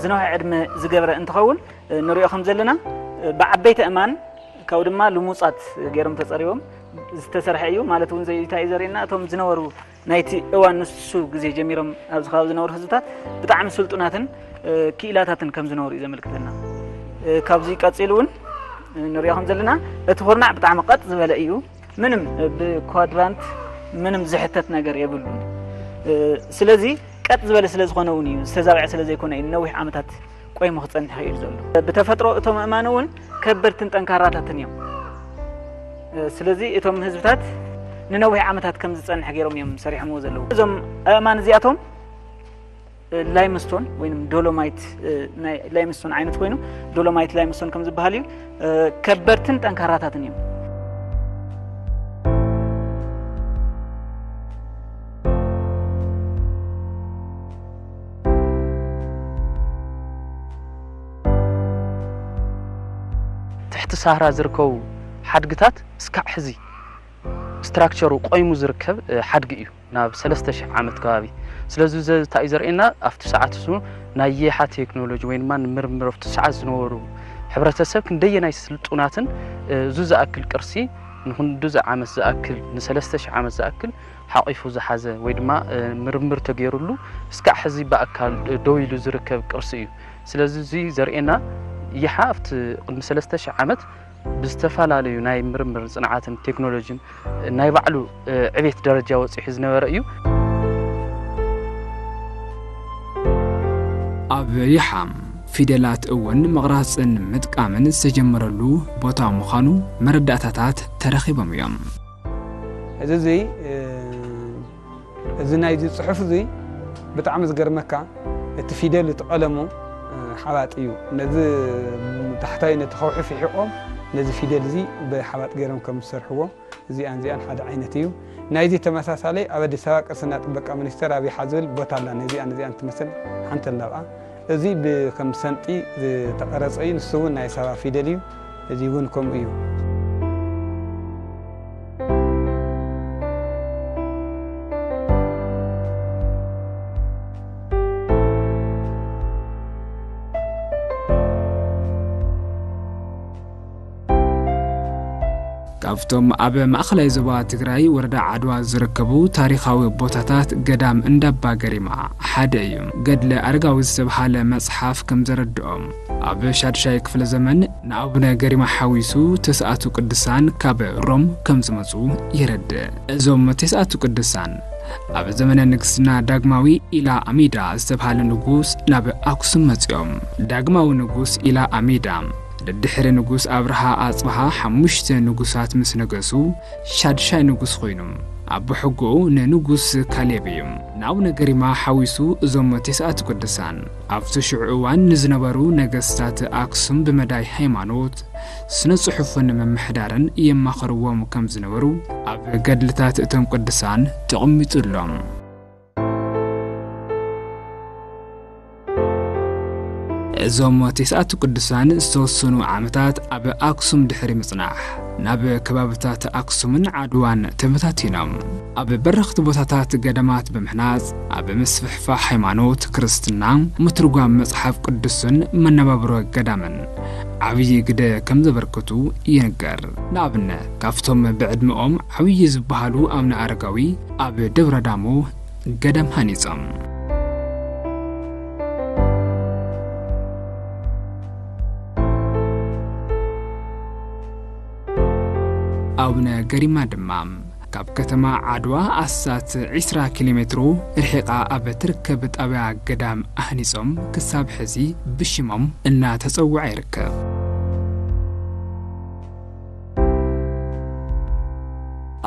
ዝነውሐ ዕድመ ዝገብረ እንትኸውን፣ ንሪኦ ከም ዘለና ብዓበይቲ እማን ካብኡ ድማ ልሙፃት ገይሮም ተፀሪቦም ዝተሰርሐ እዩ። ማለት እውን እንታይ እዩ ዘርእየና? እቶም ዝነበሩ ናይቲ እዋን ንሱ ግዜ ጀሚሮም ኣብዚ ከባቢ ዝነበሩ ህዝብታት ብጣዕሚ ስልጡናትን ክኢላታትን ከም ዝነበሩ እዩ ዘመልክተና። ካብዚ ቀፂሉ እውን ንሪኦ ከም ዘለና እቲ ኩርናዕ ብጣዕሚ ቀጥ ዝበለ እዩ። ምንም ብኳድራንት ምንም ዝሕተት ነገር የብሉን። ስለዚ ቀጥ ዝበለ ስለ ዝኾነ እውን እዩ፣ ዝተዛብዐ ስለ ዘይኮነ እዩ ነዊሕ ዓመታት ቆይሙ ክጸንሕ ይኽእል ዘሎ። ብተፈጥሮ እቶም ኣእማን እውን ከበድትን ጠንካራታትን እዮም። ስለዚ እቶም ህዝብታት ንነዊሕ ዓመታት ከም ዝጸንሕ ገይሮም እዮም ሰሪሖምዎ ዘለዉ። እዞም ኣእማን እዚኣቶም ላይምስቶን ወይም ዶሎማይት፣ ናይ ላይምስቶን ዓይነት ኮይኑ ዶሎማይት ላይምስቶን ከም ዝበሃል እዩ። ከበድትን ጠንካራታትን እዮም። ትሕቲ ሳህራ ዝርከቡ ሓድግታት እስካዕ ሕዚ ስትራክቸሩ ቆይሙ ዝርከብ ሓድጊ እዩ። ናብ ሰለስተ ሽሕ ዓመት ከባቢ። ስለዚ እዚ እንታይ እዩ ዘርእየና? ኣብቲ ሰዓት እሱ ናይ የሓ ቴክኖሎጂ ወይ ድማ ንምርምር ኣብቲ ሰዓት ዝነበሩ ሕብረተሰብ ክንደየናይ ስልጡናትን፣ እዚ ዝኣክል ቅርሲ ንክንድዚ ዓመት ዝኣክል፣ ንሰለስተ ሽሕ ዓመት ዝኣክል ሓቒፉ ዝሓዘ ወይ ድማ ምርምር ተገይሩሉ እስካዕ ሕዚ ብኣካል ደው ኢሉ ዝርከብ ቅርሲ እዩ። ስለዚ እዚ ዘርእየና የሓ ኣብቲ ቅድሚ ሰለስተ ሽሕ ዓመት ብዝተፈላለዩ ናይ ምርምር ጽንዓትን ቴክኖሎጂን ናይ ባዕሉ ዕቤት ደረጃ ወጺሑ ዝነበረ እዩ። ኣብ ይሓ ፊደላት እውን ምቕራጽን ምጥቃምን ዝተጀመረሉ ቦታ ምዃኑ መረዳእታታት ተረኺቦም እዮም። እዚ እዚ እዚ ናይዚ ጽሑፍ እዚ ብጣዕሚ ዝገርመካ እቲ ፊደል እቲ ቀለሙ ሓባጥ እዩ። ነዚ ታሕታይ ነቲ ከውሒ ፍሒቖም ነዚ ፊደል እዚ ብሓባጥ ገይሮም ከም ዝሰርሕዎ እዚኣን እዚኣን ሓደ ዓይነት እዩ። ናይዚ ተመሳሳለይ ኣብ ኣዲስ ኣበባ ቅርስና ጥበቃ ሚኒስቴር ኣብ ይሓ ዝብል ቦታ ኣላ። ነዚኣን እዚኣን ትመስል ሓንቲ ኣላ ኣብኣ። እዚ ብከም ሰንጢ ዝተቐረጸ እዩ። ንሱ እውን ናይ ሳባ ፊደል እዩ። እዚ እውን ከምኡ እዩ። ካብቶም ኣብ ማእኸላይ ዞባ ትግራይ ወረዳ ዓድዋ ዝርከቡ ታሪኻዊ ቦታታት ገዳም እንዳባ ገሪማ ሓደ እዩ። ገድለ ኣረጋዊ ዝተብሃለ መጽሓፍ ከም ዘረድኦም ኣብ ሻድሻይ ክፍለ ዘመን ንኣቡነ ገሪማ ሓዊሱ ተስኣቱ ቅዱሳን ካብ ሮም ከም ዝመጹ የረድእ። እዞም ተስኣቱ ቅዱሳን ኣብ ዘመነ ንግስና ዳግማዊ ኢላ ኣሚዳ ዝተብሃለ ንጉስ ናብ ኣክሱም መጺኦም። ዳግማዊ ንጉስ ኢላ ኣሚዳ ደድሕሪ ንጉስ ኣብርሃ ኣጽብሃ ሓሙሽተ ንጉሳት ምስ ነገሱ ሻድሻይ ንጉስ ኮይኑ ኣቦ ሕጎኡ ንንጉስ ካሌብ እዩ። ንኣቡነ ገሪማ ሓዊሱ እዞም ተስኣቱ ቅዱሳን ኣብቲ ሽዑ እዋን ንዝነበሩ ነገስታት ኣክሱም ብመዳይ ሃይማኖት ስነ ጽሑፍን ምምሕዳርን የማኸርዎም ከም ዝነበሩ ኣብ ገድልታት እቶም ቅዱሳን ተቐሚጡ ኣሎ። እዞም ተስኣቱ ቅዱሳን ዝተወሰኑ ዓመታት ኣብ ኣክሱም ድሕሪ ምጽናሕ ናብ ከባብታት ኣክሱምን ዓድዋን ተበታቲኖም ኣብ በረኽቲ ቦታታት ገዳማት ብምሕናጽ ኣብ ምስፍሕፋሕ ሃይማኖት ክርስትና ምትርጓም መጽሓፍ ቅዱስን መነባብሮ ገዳምን ዓብዪ ግደ ከም ዘበርከቱ ይንገር። ንኣብነት ካብቶም ብዕድመኦም ዓብዪ ዝበሃሉ ኣቡነ ኣረጋዊ ኣብ ደብረ ዳሞ ገዳም ሃኒጾም። ኣቡነ ገሪማ ድማ ካብ ከተማ ዓድዋ ኣስታት ዕስራ ኪሎ ሜትሮ ርሒቓ ኣብ ትርከብ ጣብያ ገዳም ኣህኒጾም ክሳብ ሕዚ ብሽሞም እናተጸውዐ ይርከብ።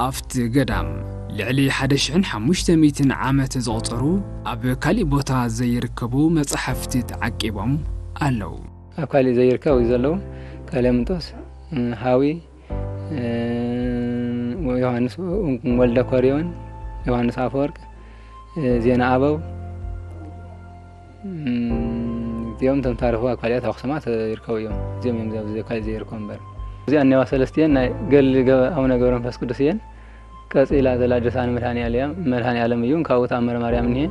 ኣብቲ ገዳም ልዕሊ ሓደ ሽሕን ሓሙሽተ ሚእትን ዓመት ዘቑጸሩ ኣብ ካሊእ ቦታ ዘይርከቡ መጻሕፍቲ ተዓቂቦም ኣለዉ። ኣብ ካሊእ ዘይርከቡ ዘለዉ ቀሌምንጦስ፣ ሃዊ፣ ዮሃንስ ወልደ ኮርዮን፣ ዮሃንስ ኣፈወርቅ፣ ዜና ኣበው፣ እዚኦም እቶም ታሪኹ ኣብ ካሊኣት ኣኽሱማት ይርከቡ እዮም። እዚኦም እዮም ኣብዚ ካሊእ ዘይርከቡ እምበር። እዚኣ እኒዋ ሰለስቲኤን ናይ ገድሊ ኣቡነ ገብረ መንፈስ ቅዱስ እየን። ቀጺላ ዘላ ድርሳን መድሃኒኣል እያ። መድሃኒኣለም እዩ። ካብኡ ተኣምረ ማርያም እኒሄ።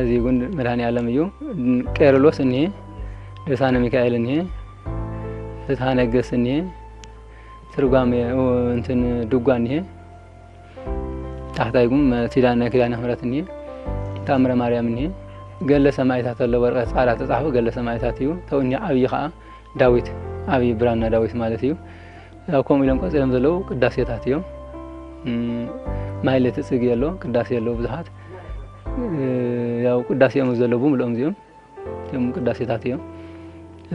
እዚ እውን መድኃኔ ዓለም እዩ። ቄርሎስ እኒሄ፣ ድርሳነ ሚካኤል እኒሄ፣ ፍትሐ ነገሥት እኒሄ፣ ትርጓሜ እንትን ድጓ እኒሄ፣ ታሕታይ ግን ኪዳነ ኪዳነ ምሕረት እኒሄ፣ ተኣምረ ማርያም እኒሄ፣ ገለ ሰማዕታት ኣሎ። ወረቐት ጻዕዳ ተጻሕፉ ገለ ሰማዕታት እዩ። ተው እኒሄ ዓብዪ ኸዓ ዳዊት፣ ዓብዪ ብራና ዳዊት ማለት እዩ። ያው ከምኡ ኢሎም ቀጺሎም ዘለዉ ቅዳሴታት እዮም። ማሕሌት ጽጌ ኣሎ፣ ቅዳሴ ኣሎ ብዙሓት። ያው ቅዳሴኦም ዘለዉ ብምልኦም እዚኦም እቶም ቅዳሴታት እዮም።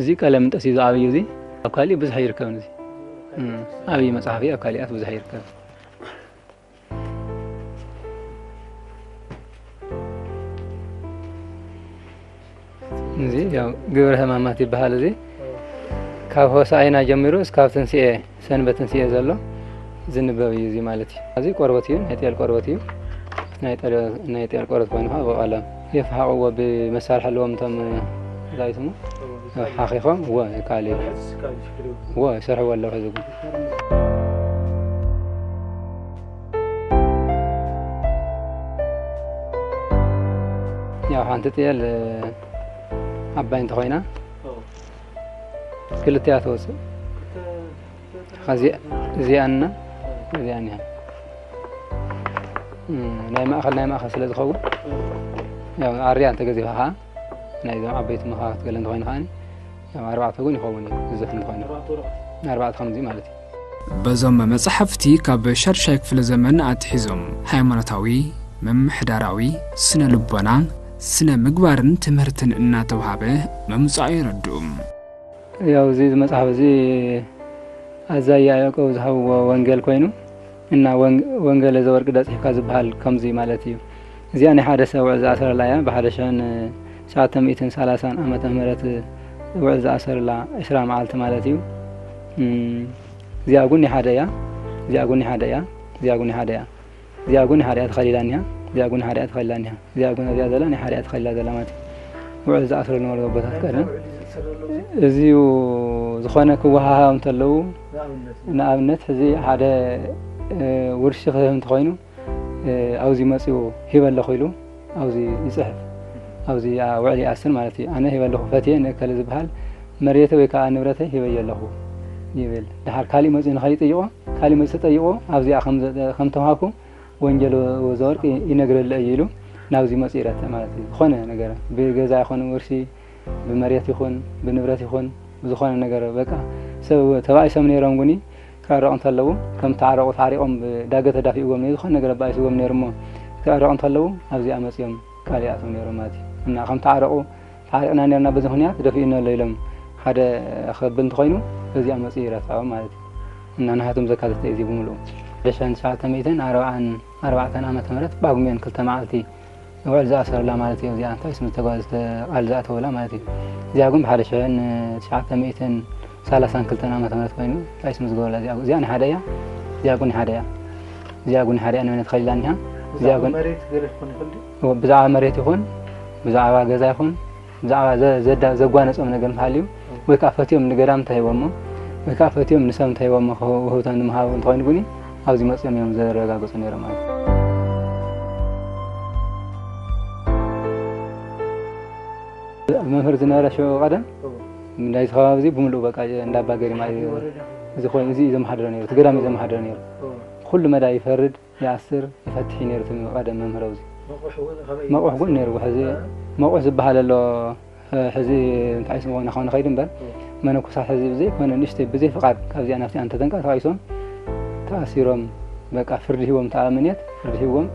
እዚ ቀለምንጠስ እዩ ዝዓብዩ። እዚ ኣብ ካሊእ ብዙሕ ይርከብ። እዚ ዓብዪ መጽሓፍ እዩ፣ ኣብ ካሊኣት ብዙሕ ይርከብ። እዚ ያው ግብረ ሕማማት ይበሃል። እዚ ካብ ሆሳዕና ጀሚሩ እስካብ ትንስኤ፣ ሰንበት ትንስኤ ዘሎ ዝንበብ እዩ እዚ ማለት እዩ። እዚ ቆርበት እዩ፣ ናይ ጤል ቆርበት እዩ። ናይ ጤል፣ ናይ ጤል ቆርበት ኮይኑ ከዓ ብቐለም የፈሓቕዎ ብመሳርሒ ኣለዎም እቶም ዛይትሙ ሓኺኾም እዎ ይከኣል እዩ። እዎ ይሰርሕዎ ኣለዉ ሕዚ እውን። ያው ሓንቲ ጤል ዓባይ እንተኾይና ክልቲያ ትወፅእ። እዚኣና እዚኣን እያ። ናይ ማእኸል ናይ ማእኸል ስለ ዝኸውን ያው ኣርያ እንተገዚፋ ከዓ ናይዞም ዓበይቲ መኻኽት ገለ እንተኾይኑ ከዓ ያው ኣርባዕተ እውን ይኸውን እዩ። ብዙሕ እንተኾይኑ ኣርባዕተ ከምዚ ማለት እዩ። በዞም መጻሕፍቲ ካብ ሻድሻይ ክፍለ ዘመን ኣትሒዞም ሃይማኖታዊ፣ ምምሕዳራዊ፣ ስነ ልቦና፣ ስነ ምግባርን ትምህርትን እናተውሃበ ምምጻኡ የረድኡ። ያው እዚ መጽሓፍ እዚ ኣዛይ ያዕቆብ ዝሃብዎ ወንጌል ኮይኑ እና ወንጌለ ዘወርቅ ደጽሕካ ዝበሃል ከምዚ ማለት እዩ። እዚኣ ናይ ሓደ ሰብ ውዕል ዝኣሰረላ እያ። ብሓደ ሽሕን ትሽዓተ ሚእትን ሰላሳን ዓመተ ምህረት ውዕል ዝኣሰረላ ዕስራ መዓልቲ ማለት እዩ። እዚኣ ጉኒ ሓደ እያ። እዚኣ ጉኒ ሓደ እያ። እዚኣ ጉኒ ሓደ እያ። እዚኣ ጉኒ ሓደ እያ ተኸሊላ እኒሃ። እዚኣ ጉኒ ሓደ እያ ተኸሊላ እኒሃ። እዚኣ ጉኒ እዚኣ ዘላ ናይ ሓደ እያ ተኸሊላ ዘላ ማለት እዩ። ውዕል ዝኣስረሉ ነበሩ ኣቦታት ቀደም። እዚዩ ዝኾነ ክወሃሃብ እንተለዉ ንኣብነት ሕዚ ሓደ ውርሺ ክህብ እንተኾይኑ ኣብዚ መፅኡ ሂበ ኣለኹ ኢሉ ኣብዚ ይፅሕፍ። ኣብዚ ውዕል ይኣስር ማለት እዩ። ኣነ ሂበ ኣለኹ ፈትየ ንእከለ ዝበሃል መሬተይ ወይ ከዓ ንብረተይ ሂበዮ ኣለኹ ይብል። ድሓር ካሊእ መፅኡ ንኸይጥይቆ ካሊእ መፅኡ ተጠይቆ ኣብዚኣ ከም ተውሃብኩ ወንጌል ወዘወርቅ ይነግረለ እዩ ኢሉ ናብዚ መፅኡ ይረትዕ ማለት እዩ። ዝኾነ ነገር ብገዛ ይኹን ውርሲ ብመሬት ይኹን ብንብረት ይኹን ብዝኾነ ነገር በቃ ሰብ ተባኢሶም ነይሮም ጉኒ ክዕረቑ እንተለዉ ከም ተዓረቑ ተዓሪቖም ብዳገ ተዳፊእዎም ነይሩ ዝኾነ ነገር ኣባኢስዎም ነይሩ እሞ ክዕረቑ እንተለዉ ኣብዚኣ መፅኦም ቃል ይኣትዉ ነይሮም ማለት እዩ። እና ከም ተዓረቑ ተዓሪቕና ነርና በዚ ምኽንያት ደፊኡና ኣሎ ኢሎም ሓደ ክብል እንተኾይኑ በዚኣ መፅኡ ይረትዖም ማለት እዩ። እና ናሃቶም ዘካተተ እዩ እዚ ብምልኡ። ሓደ ሽሕን ትሽዓተ ሚእትን ኣርባዓን ኣርባዕተን ዓመተ ምህረት ጳጉሜን ክልተ መዓልቲ ውዕል ዝኣሰረላ ማለት እዩ። እዚኣ እንታይ ስም ዝተጓዝተ ቃል ዝኣተወላ ማለት እዩ። እዚኣ ግን ብሓደ ሽሕን ትሽዓተ ሚእትን ሰላሳን ክልተን ዓመተ ምህረት ኮይኑ እንታይ ስም ዝገበረላ እዚኣ እዚኣ ንሓደ እያ። እዚኣ ግን ሓደ እያ። እዚኣ ግን ሓደ እያ ንመነት ኸሊላ እኒሃ። እዚኣ ግን መሬት ገለ ክኾን ይኽእል ድዩ? ብዛዕባ መሬት ይኹን ብዛዕባ ገዛ ይኹን ብዛዕባ ዘ- ዘዳ- ዘጓነጾም ነገር እንተሃልዩ ወይ ከዓ ፈትዮም ንገዳም እንተሂቦሞ ወይ ከዓ ፈትዮም ንሰብ እንተሂቦሞ ክህውቶም ንምሃቡ እንተኾይኑ ግን ኣብዚ መፅኦም እዮም ዘረጋግፁ ነይሮም ማለት እዩ። መምህር ዝነበረ ሽዑ ቀደም ናይዚ ከባቢ እዚ ብምሉእ በቃ እንዳባ ገሪማ እዩ። እዚ ኮይኑ እዚ እዩ ዘመሓድሮ ነይሩ እቲ ገዳም እዩ ዘመሓድሮ ነይሩ። ኩሉ መዳ ይፈርድ ይኣስር ይፈትሕ እዩ ነይሩ እቲ ቀደም መምህር ኣብዚ። መቑሕ እውን ነይሩ ሕዚ መቑሕ ዝበሃል ኣሎ። ሕዚ እንታይ ስምኾነ ኸው ንኸይድ እምበር መነኮሳት ሕዚ ብዘይኮነ ንእሽተይ ብዘይ ፍቓድ ካብዚኣ ናብቲኣ እንተተንቀሳቒሶም ተኣሲሮም በቃ ፍርዲ ሂቦም ተኣምኔት ፍርዲ ሂቦም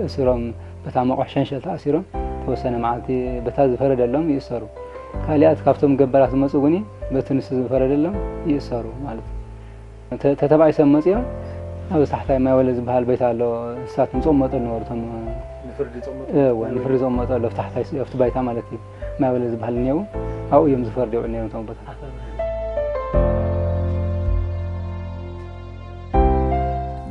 እስሮም በታ መቑሕ ሸንሸል ተኣሲሮም ተወሰነ መዓልቲ በታ ዝፈረደሎም ይእሰሩ። ካሊኣት ካብቶም ገባራት ዝመፁ እውን በቲ ንሱ ዝፈረደሎም ይእሰሩ ማለት እዩ። ተተባኢሶም መፂኦም ኣብ ታሕታይ ማይ ወለ ዝበሃል ቤት ኣሎ። እሳት ምፅኦም መጠሉ ነበሩ እቶም ንፍርዲ ዝፀመጠሉ ኣብቲ ታሕታይ ኣብቲ ባይታ ማለት እዩ። ማይ ወለ ዝበሃል እኒአው ኣብኡ እዮም ዝፈርድ የውዕል ነይሮም እቶም ቦታ።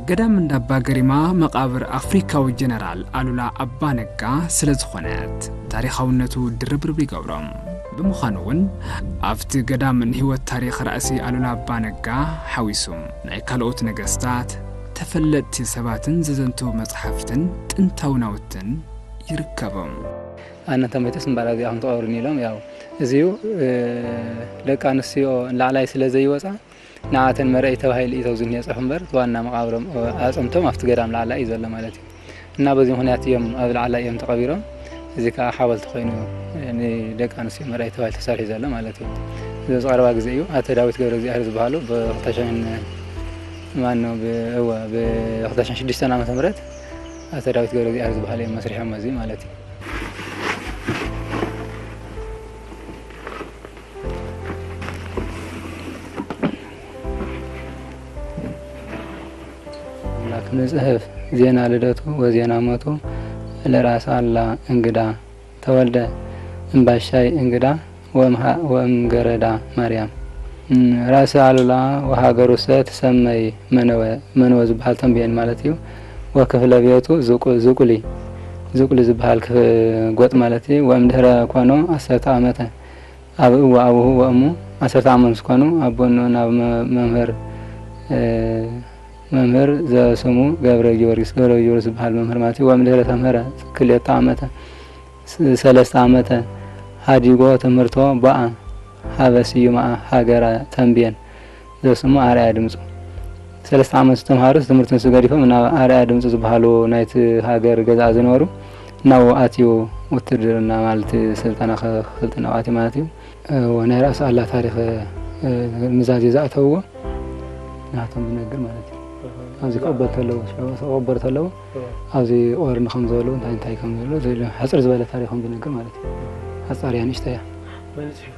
ገዳም እንዳባ ገሪማ መቓብር ኣፍሪካዊ ጀነራል ኣሉላ ኣባ ነጋ ስለ ዝኾነት ታሪኻውነቱ ድርብርብ ይገብሮም። ብምዃኑ እውን ኣብቲ ገዳም ንህይወት ታሪኽ ራእሲ ኣሉላ ኣባ ነጋ ሓዊሱ ናይ ካልኦት ነገስታት ተፈለጥቲ ሰባትን ዘዘንቱ መጽሓፍትን ጥንታዊ ናውትን ይርከቦም። ኣነ እንተመይተስ እምበኣር ኣብዚኣ ከም ትቐብርኒ ኢሎም። ያው እዚዩ ደቂ ኣንስትዮ ንላዕላይ ስለ ዘይወፃ ንዓተን መርኣይ ተባሂሉ እዩ ተብዚ እኒኦ ፅሑፍ እምበር ዋና መቃብሮም ኣፅምቶም ኣብቲ ገዳም ላዕላይ እዩ ዘሎ ማለት እዩ። እና በዚ ምክንያት እዮም ኣብ ላዕላይ እዮም ተቐቢሮም። እዚ ከዓ ሓወልቲ ኮይኑ ንደቂ ኣንስትዮ መርኣይ ተባሂሉ ተሰሪሑ ዘሎ ማለት እዩ። እዚ ኣብዚ ቀረባ ግዜ እዩ ኣቶ ዳዊት ገብረ እግዚኣብሔር ዝበሃሉ ብ2000 ማን ነው ብ- እወ ብ2006 ዓመተ ምህረት ኣቶ ዳዊት ገብረ እግዚኣብሔር ዝበሃሉ እዮም መስሪሖም እዚ ማለት እዩ። አምላክ ንጽሕፍ ዜና ልደቱ ወዜና ሞቱ ለራስ አላ እንግዳ ተወልደ እምባሻይ እንግዳ ወእምሃ- ወእምገረዳ ማርያም። እም፣ ራስ ኣሉላ ወሃገሩሰ ትሰመይ መነወ፣ መነወ ዝበሃል ተንቤን ማለት እዩ። ወክፍለ ቤቱ ዝቁ- ዝቁሊ፣ ዝቁሊ ዝበሃል ክፍ- ጎጥ ማለት እዩ። ወእምድህረ ኮኖ ዓሰርተ ዓመተ ኣብ እወ ኣቡሁ ወእሙ ዓሰርተ ዓመት ምስ ኮኑ ኣቦ እኖ ናብ መ- መምህር እ፣ መምህር ዘስሙ ገብረ ጊዮርጊስ፣ ገብረ ጊዮርጊስ ዝበሃል መምህር ማለት እዩ። ወእምድህረ ተምህረ ክልኤተ ዓመተ ስ- ሰለስተ ዓመተ ሃዲጎ ትምህርቶ ቦኣ ሃበ ስዩማ ሃገረ ተንቤን ዘስሙ ኣርኣያ ድምፁ። ሰለስተ ዓመት ዝተምሃሩ ትምህርቲ ንሱ ገዲፎም ናብ ኣርኣያ ድምፁ ዝበሃሉ ናይቲ ሃገር ገዛ ዝነበሩ ናብኡ ኣትዩ ውትድርና ማለት ስልጠና ክስልጥን ኣብኡ ኣትዩ ማለት እዩ። እዎ፣ ናይ ራስ ኣላ ታሪኽ ምዛዜ ዝኣተውዎ ናቶም ዝነግር ማለት እዩ። ኣብዚ ክቕበል ተለዉ ክቕበር ተለዉ ኣብዚ ኦርኒ ከም ዝበሉ እንታይ እንታይ ከም ዝበሉ ዝብል ሕፅር ዝበለ ታሪኾም ዝነግር ማለት እዩ። ሓፃር እያ ንእሽቶ እያ። መን ጽሒፉ?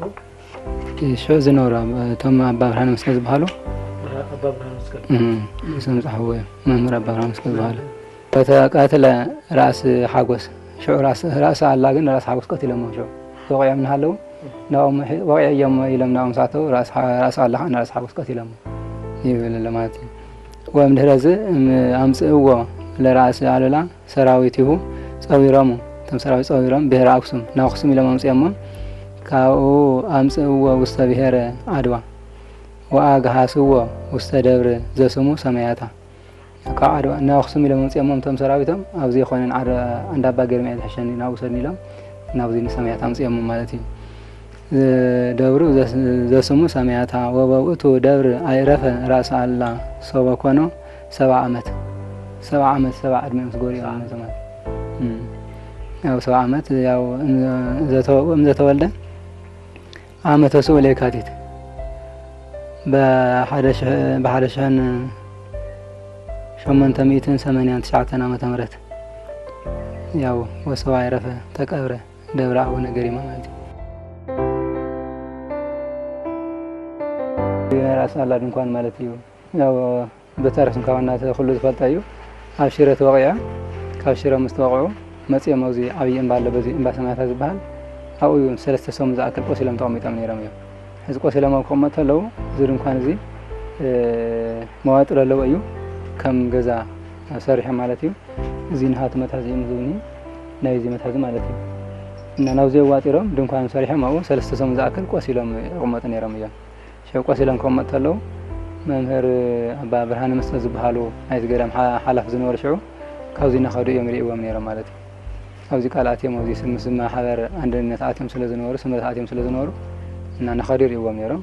ሽዑ ዝነበሩ ኣብ- እቶም ኣባ ብርሃነ መስቀል ዝበሃሉ ኣባ ብርሃነ መስቀል እም፣ እሶም ዝፀሓፍዎ እዮም። መምህር ኣባ ብርሃነ መስቀል ዝበሃሉ ተቃትለ ራእሲ ሓጎስ ሽዑ ራእሲ ኣላ ግን ራእሲ ሓጎስ ቀቲሎሞ ሽዑ ተወቂዖም እናሃለዉ ናኦም ወቂዐዮም ኢሎም ናኦም ሳተው ራእሲ ኣላ ከዓ ንራእሲ ሓጎስ ቀቲሎሞ ይብል ኣሎ ማለት እዩ። ወእምድህረ እዚ ኣምፅእዎ ለራእሲ ኣሉላ ሰራዊቲሁ ጸዊሮሙ እቶም ሰራዊት ጸዊሮም ብሄረ ኣክሱም ናብ ኣክሱም ኢሎም ኣምፅኦሞ ካብኡ ኣምፅእዎ ውስተ ብሄረ ዓድዋ ወኣግሃስዎ ውስተ ደብር ዘስሙ ሰማያታ ካብ ዓድዋ ናብ ኣክሱም ኢሎም ኣምፅኦሞ እቶም ሰራዊቶም ኣብዚ ይኮነን ዓድ- እንዳባ ገርምኤል ዝሕሸኒ ናብ ውሰድኒ ኢሎም ናብዚ ንሰማያታ ኣምፅኦሞ ማለት እዩ። ደብሩ ዘስሙ ሰማያታ ወበውእቱ ደብር ኣይረፈ ራእሲ ኣላ ሶበ ኮኖ ሰብዓ ዓመት ሰብዓ ዓመት ሰብዓ ዕድመ ምስ ጎሪኦም ማለት ያው ሰብዓ ዓመት ያው እምዘተወልደ ዓመተ ስኡ ለየካቲት ብሓደ ሽሕን ሸሞንተ ሚእትን ሰማንያን ትሽዓተን ዓመተ ምህረት ያው ወሰው ኣይረፈ ተቀብረ ደብረ ኣቡነ ገሪማ ማለት እዩ። ናይ ራእሲ ኣላ ድንኳን ማለት እዩ። ያው በታሪክ እንኳ ዋና ኩሉ ዝፈልጠ እዩ። ኣብ ሽረ ተወቂዖ ካብ ሽረ ምስ ተወቅዑ መፂኦም ኣብዚ ዓብዪ እምባ ኣሎ በዚ እምባ ሰማያታ ዝበሃል ኣብኡ እዩ ሰለስተ ሰሙን ዝኣክል ቆሲሎም ተቐሚጦም ነይሮም እዮም። ሕዚ ቆሲሎም ኣብ ክቕመጡ ኣለዉ እዚ ድንኳን እዚ መዋጥር ኣለዎ እዩ ከም ገዛ ሰሪሖም ማለት እዩ። እዚ ንሃቲ መትሓዚ እዩ ዝብኒ ናይ እዚ መትሓዚ ማለት እዩ። እና ናብዚ ኣዋጢሮም ድንኳን ሰሪሖም ኣብኡ ሰለስተ ሰሙን ዝኣክል ቆሲሎም ይቕመጡ ነይሮም እዮም። ሽዑ ቆሲሎም ክቕመጡ ከለዉ መምህር ኣባ ብርሃነ መስቀል ዝበሃሉ ናይቲ ገዳም ሓ- ሓላፊ ዝነበሩ ሽዑ ካብዚ እናኸዱ እዮም ይርእዎም ነይሮም ማለት እዩ። ኣብዚ ቃል ኣትዮም ኣብዚ ስም- ምስ ማሕበር ኣንድነት ኣትዮም ስለ ዝነበሩ ስምረት ኣትዮም ስለ ዝነበሩ እና እናኸዱ ይርእዎም ነይሮም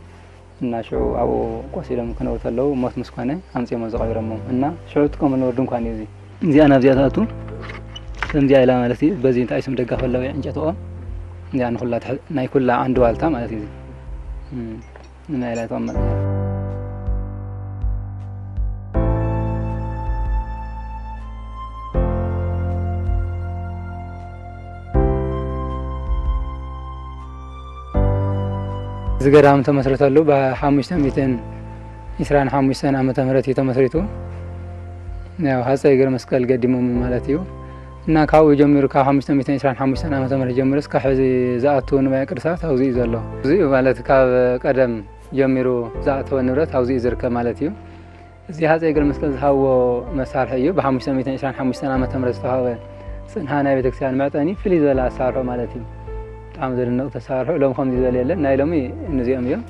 እና ሽዑ ኣብኡ ቆሲሎም ክነብሩ ከለዉ ሞት ምስ ኮነ ኣምፅኦም ኣብዚ ቀቢሮሞም እና ሽዑ ዝጥቀሙ ዝነበሩ ድንኳን እዩ እዚ። እዚኣ ናብዚኣ ትኣቱ ከምዚኣ ኢላ ማለት እዩ። በዚ እንታይ ስም ደጋፍ ኣለዎ ዕንጨትኦም እዚኣ ንኩላ ትሕ- ናይ ኩላ ዓንዲ ዋልታ ማለት እዩ። እዚ ናይ ኢላ ተቐመጥ እዚ ገዳም ተመስረተሉ ብሓሙሽተ ሚእትን ዒስራን ሓሙሽተን ዓመተ ምህረት እዩ ተመስሪቱ። ያው ሃፀይ ገረ መስቀል ገዲሞም ማለት እዩ። እና ካብኡ ጀሚሩ ካብ ሓሙሽተ ሚእትን ዒስራን ሓሙሽተን ዓመተ ምህረት ጀሚሩ እስካብ ሕዚ ዝኣቱ ንዋየ ቅድሳት ኣብዚ እዩ ዘሎ። እዚ ማለት ካብ ቀደም ጀሚሩ ዝኣተወ ንብረት ኣብዚ እዩ ዝርከብ ማለት እዩ። እዚ ሃፀይ ገረ መስቀል ዝሃብዎ መሳርሒ እዩ። ብ525 ዓመተ ምህረት ዝተዋህበ ፅንሃ ናይ ቤተክርስትያን መዕጠኒ ፍልይ ዝበለ ኣሳርሖ ማለት እዩ። ብጣዕሚ ዘደንቕ ተሳርሖ ሎም ከምዚ ዝበለ የለን። ናይ ሎሚ እዚኦም እዮም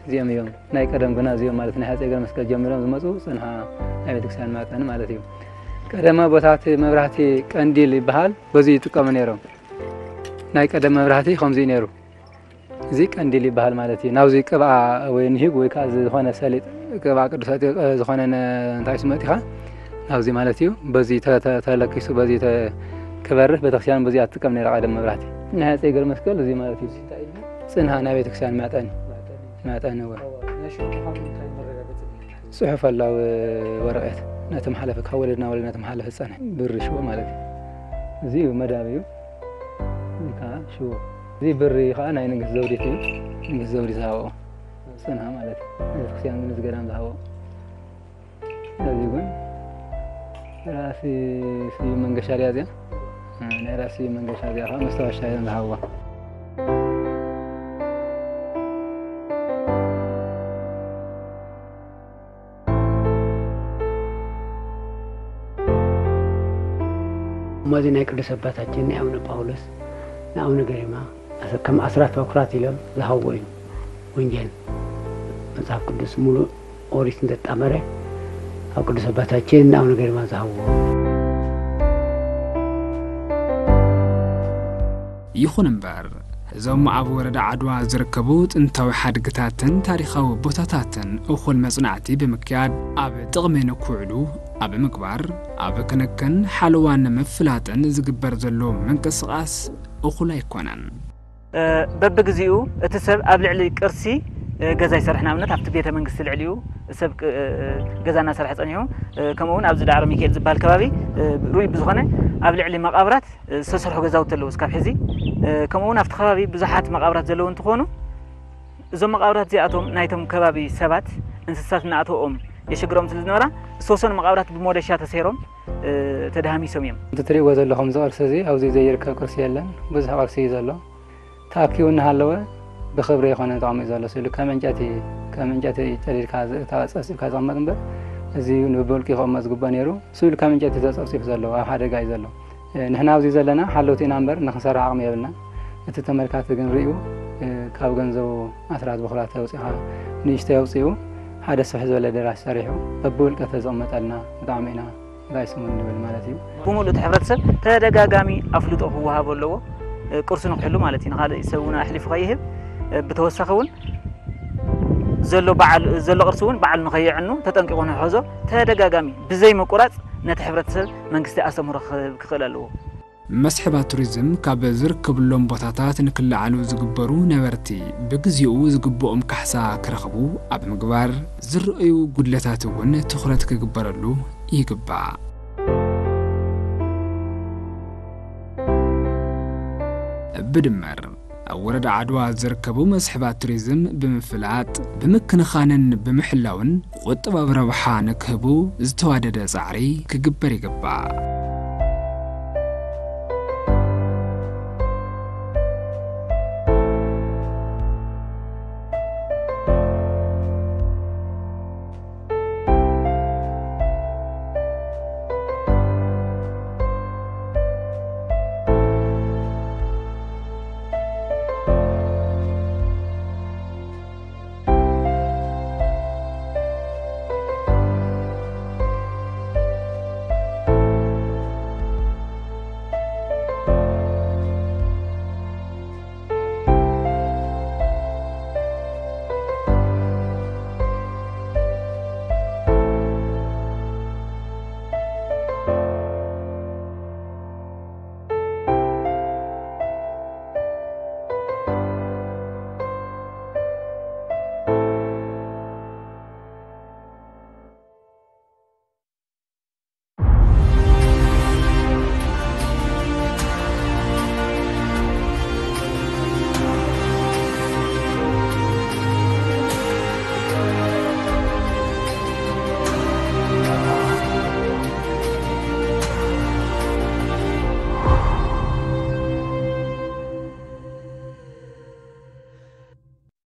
እዚኦም እዮም ናይ ቀደም ግና እዚኦም ማለት ናይ ሃፀይ ገረ መስቀል ጀሚሮም ዝመፁ ፅንሃ ናይ ቤተክርስትያን መዕጠኒ ማለት እዩ። ቀደም ኣቦታት መብራህቲ ቀንዲል ይበሃል፣ በዚ ይጥቀሙ ነይሮም። ናይ ቀደም መብራህቲ ከምዚ እዩ ነይሩ። እዚ ቀንዲል ይበሃል ማለት እዩ። ናብዚ ቅብኣ ወይ ንሂግ ወይ ከዓ ዝኾነ ሰሊጥ ቅብኣ ቅዱስ ኣጢ-፣ ዝኾነ ነ-፣ እንታይ ስም ኣእቲኻ ናብዚ ማለት እዩ። በዚ ተ-፣ ተ-፣ ተለኪሱ በዚ ተ-፣ ክበርህ ቤተክርስትያን በዚ ኣትጥቀም ነይራ ቀደም መብራህቲ። ናይ ኣፀይ ገር መስቀል እዚ ማለት እዩ። ፅንሃ ናይ ቤተክርስትያን መጠን፣ መጠን እወ። ናይ ሽዑ ምዃኑ እንታይ መረጋገፂ ኣሎ? ፅሑፍ ኣሎ ኣብ ወረቐት። ነቲ መሓለፈ ካብ ወለድ ናብ ወለድ ነቲ መሓለፈ ዝፀንሐ ብሪ ሽቦ ማለት እዩ። እዚ እዩ መዳብ እዩ። እዚ ከዓ ሽቦ። እዚ ብሪ ከዓ ናይ ንግስቲ ዘውዲት እዩ። ንግስቲ ዘውዲት ዝሃብኦ ፅንሃ ማለት እዩ። ቤተክርስትያን ግን እዚ ገዳም ዝሃብኦ። እዚ እውን ራእሲ ስዩም መንገሻ ድያ እዚኣ? እ፣ ናይ ራእሲ ስዩም መንገሻ እዚኣ ከዓ መስታወሻ እዮም ዝሃብዋ። እሞ እዚ ናይ ቅዱስ ኣባታችን ናይ ኣቡነ ጳውሎስ ንኣቡነ ገሪማ ኣሰ-፣ ከም ኣስራት በኩራት ኢሎም ዝሃብዎ እዩ። ወንጌል መጽሓፍ ቅዱስ ሙሉእ ኦሪት እንተጣመረ ኣብ ቅዱስ ኣባታችን ንኣቡነ ገሪማ ዝሃብዎ። ይኹን እምበር፣ እዞም ኣብ ወረዳ ዓድዋ ዝርከቡ ጥንታዊ ሓድግታትን ታሪኻዊ ቦታታትን እኹል መጽናዕቲ ብምክያድ ኣብ ጥቕሚ ንክውዕሉ ኣብ ምግባር፣ ኣብ ክንክን ሓለዋን ምፍላጥን ዝግበር ዘሎ ምንቅስቓስ እኹል ኣይኮነን። እ፣ በብግዜኡ እቲ ሰብ ኣብ ልዕሊ ቅርሲ፣ እ፣ ገዛ ይሰርሕ። ንኣብነት ኣብቲ ቤተ መንግስቲ ልዕሊኡ ሰብ ቅ-፣ እ፣ ገዛ እናሰርሐ ጸኒሑ፣ እ፣ ከምኡ እውን ኣብዚ ዳዕሮ ሚካኤል ዝበሃል ከባቢ፣ እ፣ ርኡይ ብዝኾነ ኣብ ልዕሊ መቓብራት ዝተሰርሑ ገዛውቲ ኣለዉ እስካብ ሕዚ። እ፣ ከምኡ እውን ኣብቲ ከባቢ ብዙሓት መቓብራት ዘለዉ እንትኾኑ፣ እዞም መቓብራት እዚኣቶም ናይቶም ከባቢ ሰባት፣ እንስሳት እናኣተዎም የሸግሮም ስለ ዝነበራ፣ ዝተወሰኑ መቓብራት ብሞደሻ ተሰይሮም፣ እ፣ ተደሃሚሶም እዮም። እቲ ትሪእዎ ዘለኹም እዚ ቅርሲ እዚ ኣብዚ ዘይርከብ ቅርሲ የለን። ብዙሕ ቅርሲ እዩ ዘሎ። ተኣኪቡ እናሃለወ ብኽብሪ ኣይኮነን ተቐሚጡ ዘሎ። ስእሉ ከም ዕንጨይቲ፣ ከም ዕንጨይቲ ጨዲድካ ዝ-፣ እታ ጸብጺብካ ዝቕመጥ እምበር፣ እዚ ብውልቂ ክቕመጥ ዝግባእ ነይሩ። ስእሉ ከም ዕንጨይቲ ተጸብጺቡ ዘሎ፣ ኣብ ሓደጋ እዩ ዘሎ። እ፣ ንሕና ኣብዚ ዘለና ሓለውቲ ኢና እምበር፣ ንኽንሰርሕ ዓቕሚ የብልና። እቲ ተመልካቲ ግን ርእዩ፣ እ፣ ካብ ገንዘቡ ኣስራት ብኹራት ኣውጺኻ፣ ንእሽተይ ኣውጺኡ፣ ሓደ ስፍሕ ዝበለ ኣዳራሽ ሰሪሑ፣ በብውልቀ ተዝቕመጠልና፣ ብጣዕሚ ኢና ጋይስ እውን ንብል ማለት እዩ። ብምሉእ እቲ ሕብረተሰብ ተደጋጋሚ ኣፍልጦ ክወሃቦ ኣለዎ። እ፣ ቅርሱ ንክሕሉ ማለት እዩ። ንኻልእ ሰብ እውን ኣሕሊፉ ከይህብ፣ እ፣ ብተወሳኺ እውን ዘሎ በዓል፣ ዘሎ ቅርሲ እውን ባዕሉ ንኸየዕኑ ተጠንቂቑ ንክሕዞ ተደጋጋሚ ብዘይ ምቁራጽ ነቲ ሕብረተሰብ መንግስቲ ኣስተምህሮ ክህብ ክኽእል ኣለዎ። መስሕባት ቱሪዝም ካብ ዝርከብሎም ቦታታት ንክለዓሉ ዝግበሩ ነበርቲ ብግዜኡ ዝግብኦም ካሕሳ ክረኽቡ ኣብ ምግባር፣ ዝረኣዩ ጉድለታት እውን ትኹረት ክግበረሉ ይግባእ። ብድምር፣ ኣብ ወረዳ ዓድዋ ዝርከቡ መስሕባት ቱሪዝም ብምፍላጥ፣ ብምክንኻንን ብምሕላውን ቁጠባዊ ረብሓ ንክህቡ ዝተዋደደ ጻዕሪ ክግበር ይግባእ።